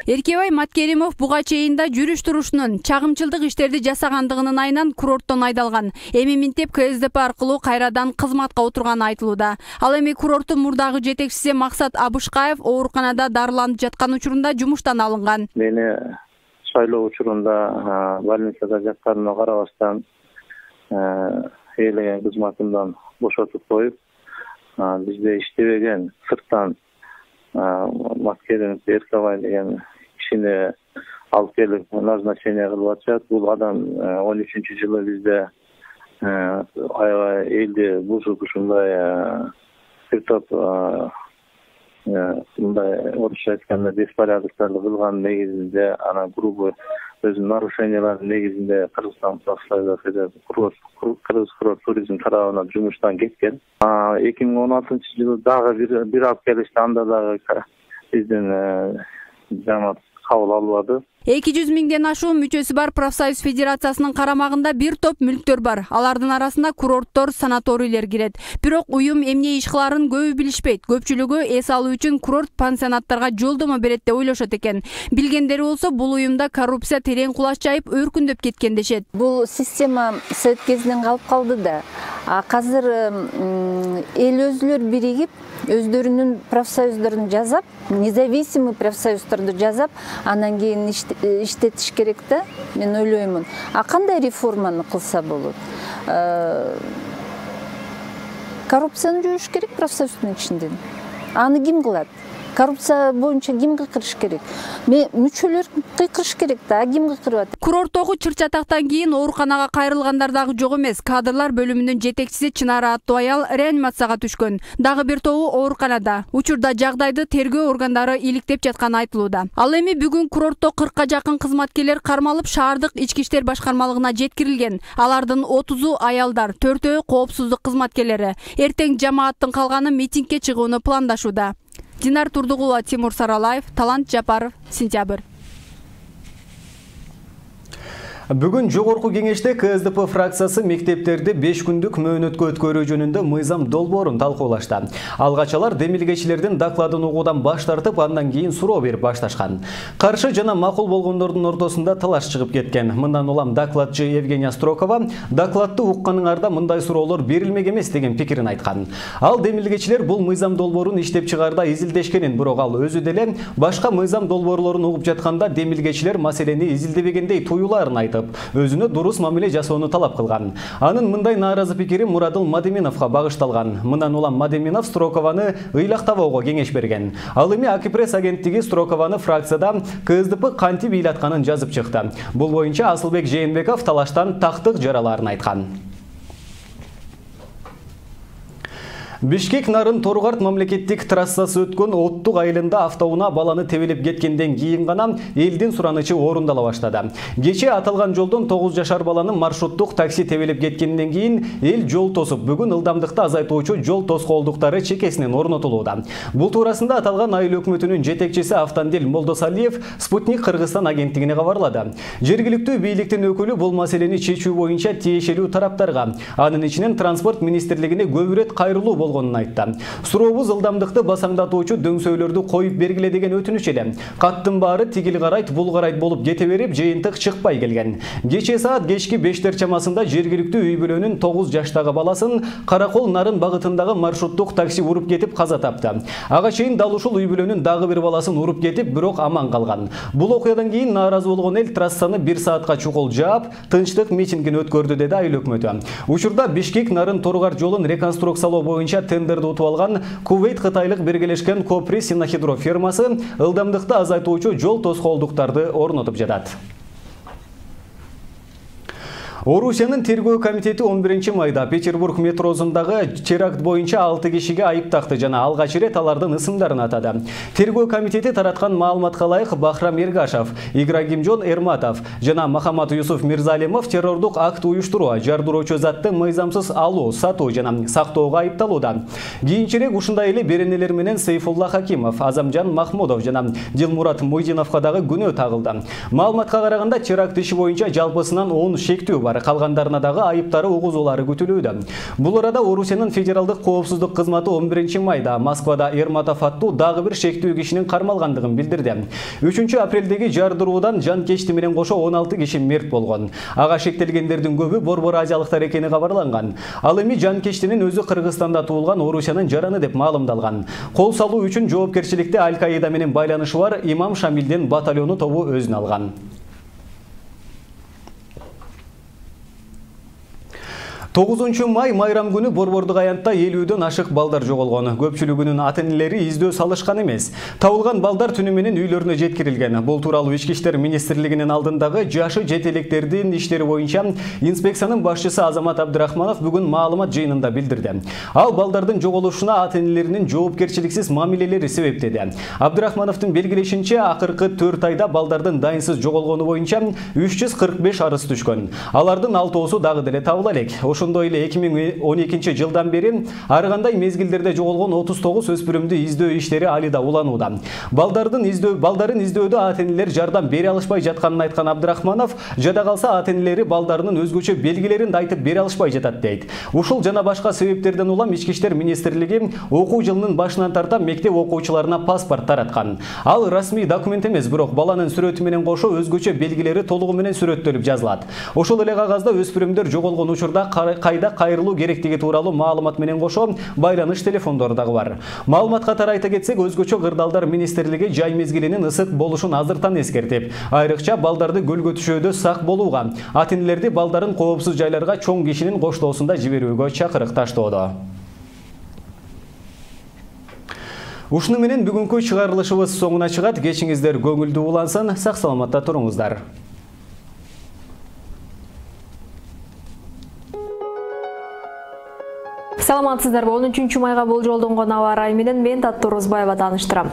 Эркебай Маткеримов буга чейин да жүрүш турушунун чагымчылдык иштерди жасагандыгынын айынан курорттон айдалган. Эми минтеп КСДП аркылуу кайрадан кызматка отурганы айтылууда. Ал эми курорттун мурдагы жетекчиси Максат Абышкаев ооруканада дарыланып жаткан учурунда жумуштан алынган. Мени шайлоо учурунда больницада жатканыма карабастан ээлеген кызматымдан бошотуп коюп, бизде иштебеген сырттан Маткеримов Эркебай деген кишини алып келип назначение кылып атышат. Бул адам он үчүнчү жылы бизде аябай элди бузуп ушундай бир топ мындай орусча айтканда беспорядокторду кылган негизинде анан грубый өзүнүн нарушениялардын негизинде Кыргызстан профсоюздар федерациясы Кыргыз курорт туризм тарабынан жумуштан кеткен. эки миң он алтынчы жылы дагы бир алып келишти, анда дагы биздин жамаат кабыл албады. эки жүз миңден ашуун мүчөсү бар профсоюз федерациясынын карамагында бир топ мүлктөр бар. Алардын арасында курорттор, санаторийлер кирет. Бирок уюм эмне иш кыларын көбү билишпейт. Көпчүлүгү эс алуу үчүн курорт пансионаттарга жолдомо берет деп ойлошот экен. Билгендери болсо бул уюмда коррупция терең кулач жайып өркүндөп кеткен дешет. Бул система совет кезинен калып калды да. Азыр эл өзүлөр биригип, өздөрүнүн профсоюздарын жазап, независимый профсоюздарды жазап, анан кийин иштетиш керек да, мен ойлоймун. А кандай реформаны кылса болот? Коррупцияны жоюш керек профсоюздун ичинде. Аны ким кылат? Коррупция боюнча ким кыйкырыш керек? Мүчөлөр кыйкырыш керек да, ким кыйкырып атат? Курорттогу чыр-чатактан кийин ооруканага кайрылгандар дагы жок эмес. Кадрлар бөлүмүнүн жетекчиси Чынара аттуу аял реанимацияга түшкөн. Дагы бир тобу ооруканада. Учурда жагдайды тергөө органдары иликтеп жатканы айтылууда. Ал эми бүгүн курортто кыркка жакын кызматкерлер кармалып шаардык ички иштер башкармалыгына жеткирилген. Алардын отузу аялдар, төртөө коопсуздук кызматкерлери. Эртең жамааттын калганы митингге чыгууну пландашууда. Динар Турдугулова, Тимур Саралаев, Талант Жапаров, Сентябрь. Бүгүн жогорку кеңеште К С Д П фракциясы мектептерди беш күндүк мөөнөткө өткөрүү жөнүндө мыйзам долбоорун талкуулашты. Алгачалар демилгечилердин докладын угуудан баш тартып, андан кийин суроо берип башташкан. Каршы жана макул болгондордун ортосунда талаш чыгып кеткен. Мындан улам докладчы Евгения Строкова докладты укканыңарда мындай суроолор берилмек эмес деген пикирин айткан. Ал демилгечилер бул мыйзам долбоорун иштеп чыгаарда изилдешкенин, бирок ал өзү деле башка мыйзам долбоорлорун угуп жатканда демилгечилер маселени изилдебегендей туюлаарын айтып, өзүнө дурус мамиле жасоону талап кылган. Анын мындай нааразы пикири Мурадыл Мадеминовго багышталган. Мындан улам Мадеминов Строкованы ыйлактабоого кеңеш берген. Ал эми Акипресс агенттиги Строкованы фракцияда К С Д П кантип ыйлатканын жазып чыкты. Бул боюнча Асылбек Жээнбеков талаштан тактык жараларын айткан. Бишкек Нарын Торгарт мамлекеттик трассасы өткөн Оттук айылында автоунаа баланы тебелеп кеткенден кийин гана элдин суранычы орундала баштады. Кечээ аталган жолдон тогуз жашар баланы маршруттук такси тебелеп кеткенден кийин эл жол тосуп, бүгүн ылдамдыкты азайтуучу жол тоскоолдуктары чекесинен орнотулууда. Бул туурасында аталган айыл өкмөтүнүн жетекчиси Автандил Молдосалиев Спутник Кыргызстан агенттигине кабарлады. Жергиликтүү бийликтин өкүлү бул маселени чечүү боюнча тиешелүү тараптарга, анын ичинен транспорт министрлигине көп ирет кайрылуу болгонун айтты. Сурообуз ылдамдыкты басаңдатуучу дөңсөөлөрдү коюп бергиле деген өтүнүч эле. Каттын баары тигил карайт, бул карайт болуп кете берип, жыйынтык чыкпай келген. Кечээ саат кечки бештер чамасында жергиликтүү үй бүлөнүн тогуз жаштагы баласын Каракол Нарын багытындагы маршруттук такси уруп кетип каза тапты. Ага чейин дал ушул үй бүлөнүн дагы бир баласын уруп кетип, бирок аман калган. Бул окуядан кийин нааразы болгон эл трассаны бир саатка чукул жаап, тынчтык митингин өткөрдү, деди айыл өкмөтү. Учурда Бишкек Нарын Торгарт жолун реконструкциялоо боюнча тендерди утуп алган Кувейт Кытайлык биргелешкен Копри Синохидро фирмасы ылдамдыкты азайтуучу жол тоскоолдуктарды орнотуп жатат. Орусиянын тергөө комитети он биринчи майда Петербург метросундагы теракт боюнча алты кишиге айып такты жана алгач ирет алардын ысымдарын атады. Тергөө комитети тараткан маалыматка ылайык Бахрам Эргашев, Играгимжон Эрматов жана Махамат Юсуф Мирзалимов террордук акт уюштуруу, жардыроочу затты мыйзамсыз алуу, сатуу жана сактоого айыпталууда. Кийинчерээк ушундай эле беренелер менен Сейфулла Хакимов, Азамжан Махмудов жана Дилмурат Муйдиновго дагы күнөө тагылды. Маалыматка караганда теракт иши боюнча жалпысынан он шектүү бар. Калгандарына дагы айыптары угузуулары күтүлүүдө. Бул арада Орусиянын федералдык коопсуздук кызматы он биринчи майда Москвада Эрматов аттуу дагы бир шектүү кишинин кармалгандыгын билдирди. үчүнчү апрелдеги жардыруудан жанкечти менен кошо он алты киши мерт болгон. Ага шектелгендердин көбү борбор азиялыктар экени кабарланган. Ал эми жанкечтинин өзү Кыргызстанда туулган Орусиянын жараны деп маалымдалган. Кол салуу үчүн жоопкерчиликти Аль-Каида менен байланышы бар Имам Шамилдин батальону тобу өзүнө алган. тогузунчу май майрам күнү Борбордук аянтта элүүдөн ашык балдар жоголгон. Көпчүлүгүнүн ата-энелери издөө салышкан эмес. Табылган балдар түнү менен үйлөрүнө жеткирилген. Бул тууралуу Ички иштер министрлигинин алдындагы жашы жетелектердин иштери боюнча инспекциянын башчысы Азамат Абдрахманов бүгүн маалымат жыйынында билдирди. Ал балдардын жоголушуна ата-энелеринин жоопкерчиликсиз мамилелери себеп деди. Абдрахмановдун белгилешинче, акыркы төрт айда балдардын дайынсыз жоголгону боюнча үч жүз кырк беш арыз түшкөн. Алардын алтоосу дагы деле табыла элек. Ошондой эле эки миң он экинчи жылдан бери ар кандай мезгилдерде жоголгон отуз тогуз өспүрүмдү издөө иштери али да уланууда. Балдардын издөө балдарын издөөдө ата-энелер жардам бере алышпай жатканын айткан Абдрахманов, жада калса ата-энелери балдарынын өзгөчө белгилерин да айтып бере алышпай жатат дейт. Ушул жана башка себептерден улам Ички иштер министрлиги окуу жылынын башынан тарта мектеп окуучуларына паспорт тараткан. Ал расмий документ эмес, бирок баланын сүрөтү менен кошо өзгөчө белгилери толугу менен сүрөттөлүп жазылат. Ошол эле кагазда өспүрүмдөр жоголгон учурда кайда кайрылуу керектиги тууралуу маалымат менен кошо байланыш телефондору дагы бар. Маалымат катары айта кетсек, өзгөчө кырдаалдар министрлиги жай мезгилинин ысык болушун азыртан эскертип, айрыкча балдарды көлгө түшөөдө сак болууга, ата-энелерди балдарын коопсуз жайларга чоң кишинин коштоосунда жиберүүгө чакырык таштоодо. Ушуну менен бүгүнкү чыгарылышыбыз соңуна чыгат. Кечиңиздер көңүлдүү улансын, сак саламатта туруңуздар. Саламатсыздарбы? он үчүнчү майга болжолдонгон аба ырайы менен мен Таттуу Орозбаева тааныштырам.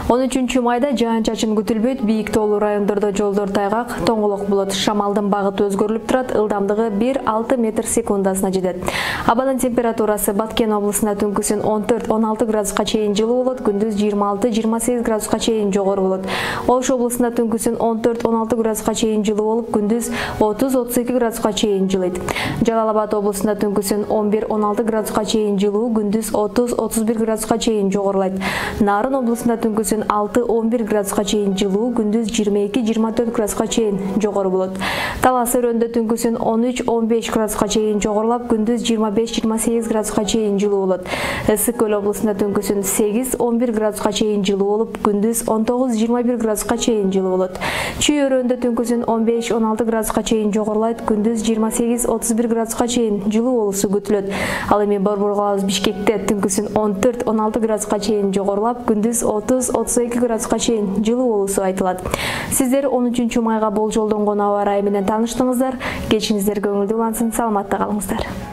он үчүнчү майда жаан-чачын күтүлбөйт, бийик тоолуу райондордо жолдор тайгак, тоңолок болот. Шамалдын багыты өзгөрүлүп турат, ылдамдыгы бир алты метр секундасына жетет. Абанын температурасы Баткен облусунда түнкүсүн он төрт он алты градуска чейин жылуу болот, күндүз жыйырма алты жыйырма сегиз градуска чейин жогору болот. Ош облусунда түнкүсүн он төрт он алты градуска чейин жылуу болуп, күндүз отуз отуз эки градуска чейин жылыйт. Жалал Абад облусунда түнкүсүн он бир он алты градуска чейин жылуу, күндүз отуз отуз бир градуска чейин жогорулайт. Нарын облусунда түнкүсүн алты он бир градуска чейин жылуу, күндүз жыйырма эки жыйырма төрт градуска чейин жогору болот. Талас өрөндө түнкүсүн он үч он беш градуска чейин жогорулап, күндүз жыйырма беш жыйырма сегиз градуска чейин жылуу болот. Ысык көл облусунда түнкүсүн сегиз он бир градуска чейин жылуу болуп, күндүз он тогуз жыйырма бир градуска чейин жылуу болот. Чүй өрөндө түнкүсүн он беш он алты градуска чейин жогорулайт, күндүз жыйырма сегиз отуз бир градуска чейин жылуу болуусу күтүлөт. Ал эми Борбор калабыз Бишкекте түнкүсүн он төрт он алты градуска чейин жогорулап, күндүз отуз отуз эки градуска чейин жылуу болуусу айтылат. Сиздер он үчүнчү майга болжолдонгон аба ырайы менен тааныштыңыздар. Кечиңиздер көңүлдүү улансын, саламатта калыңыздар.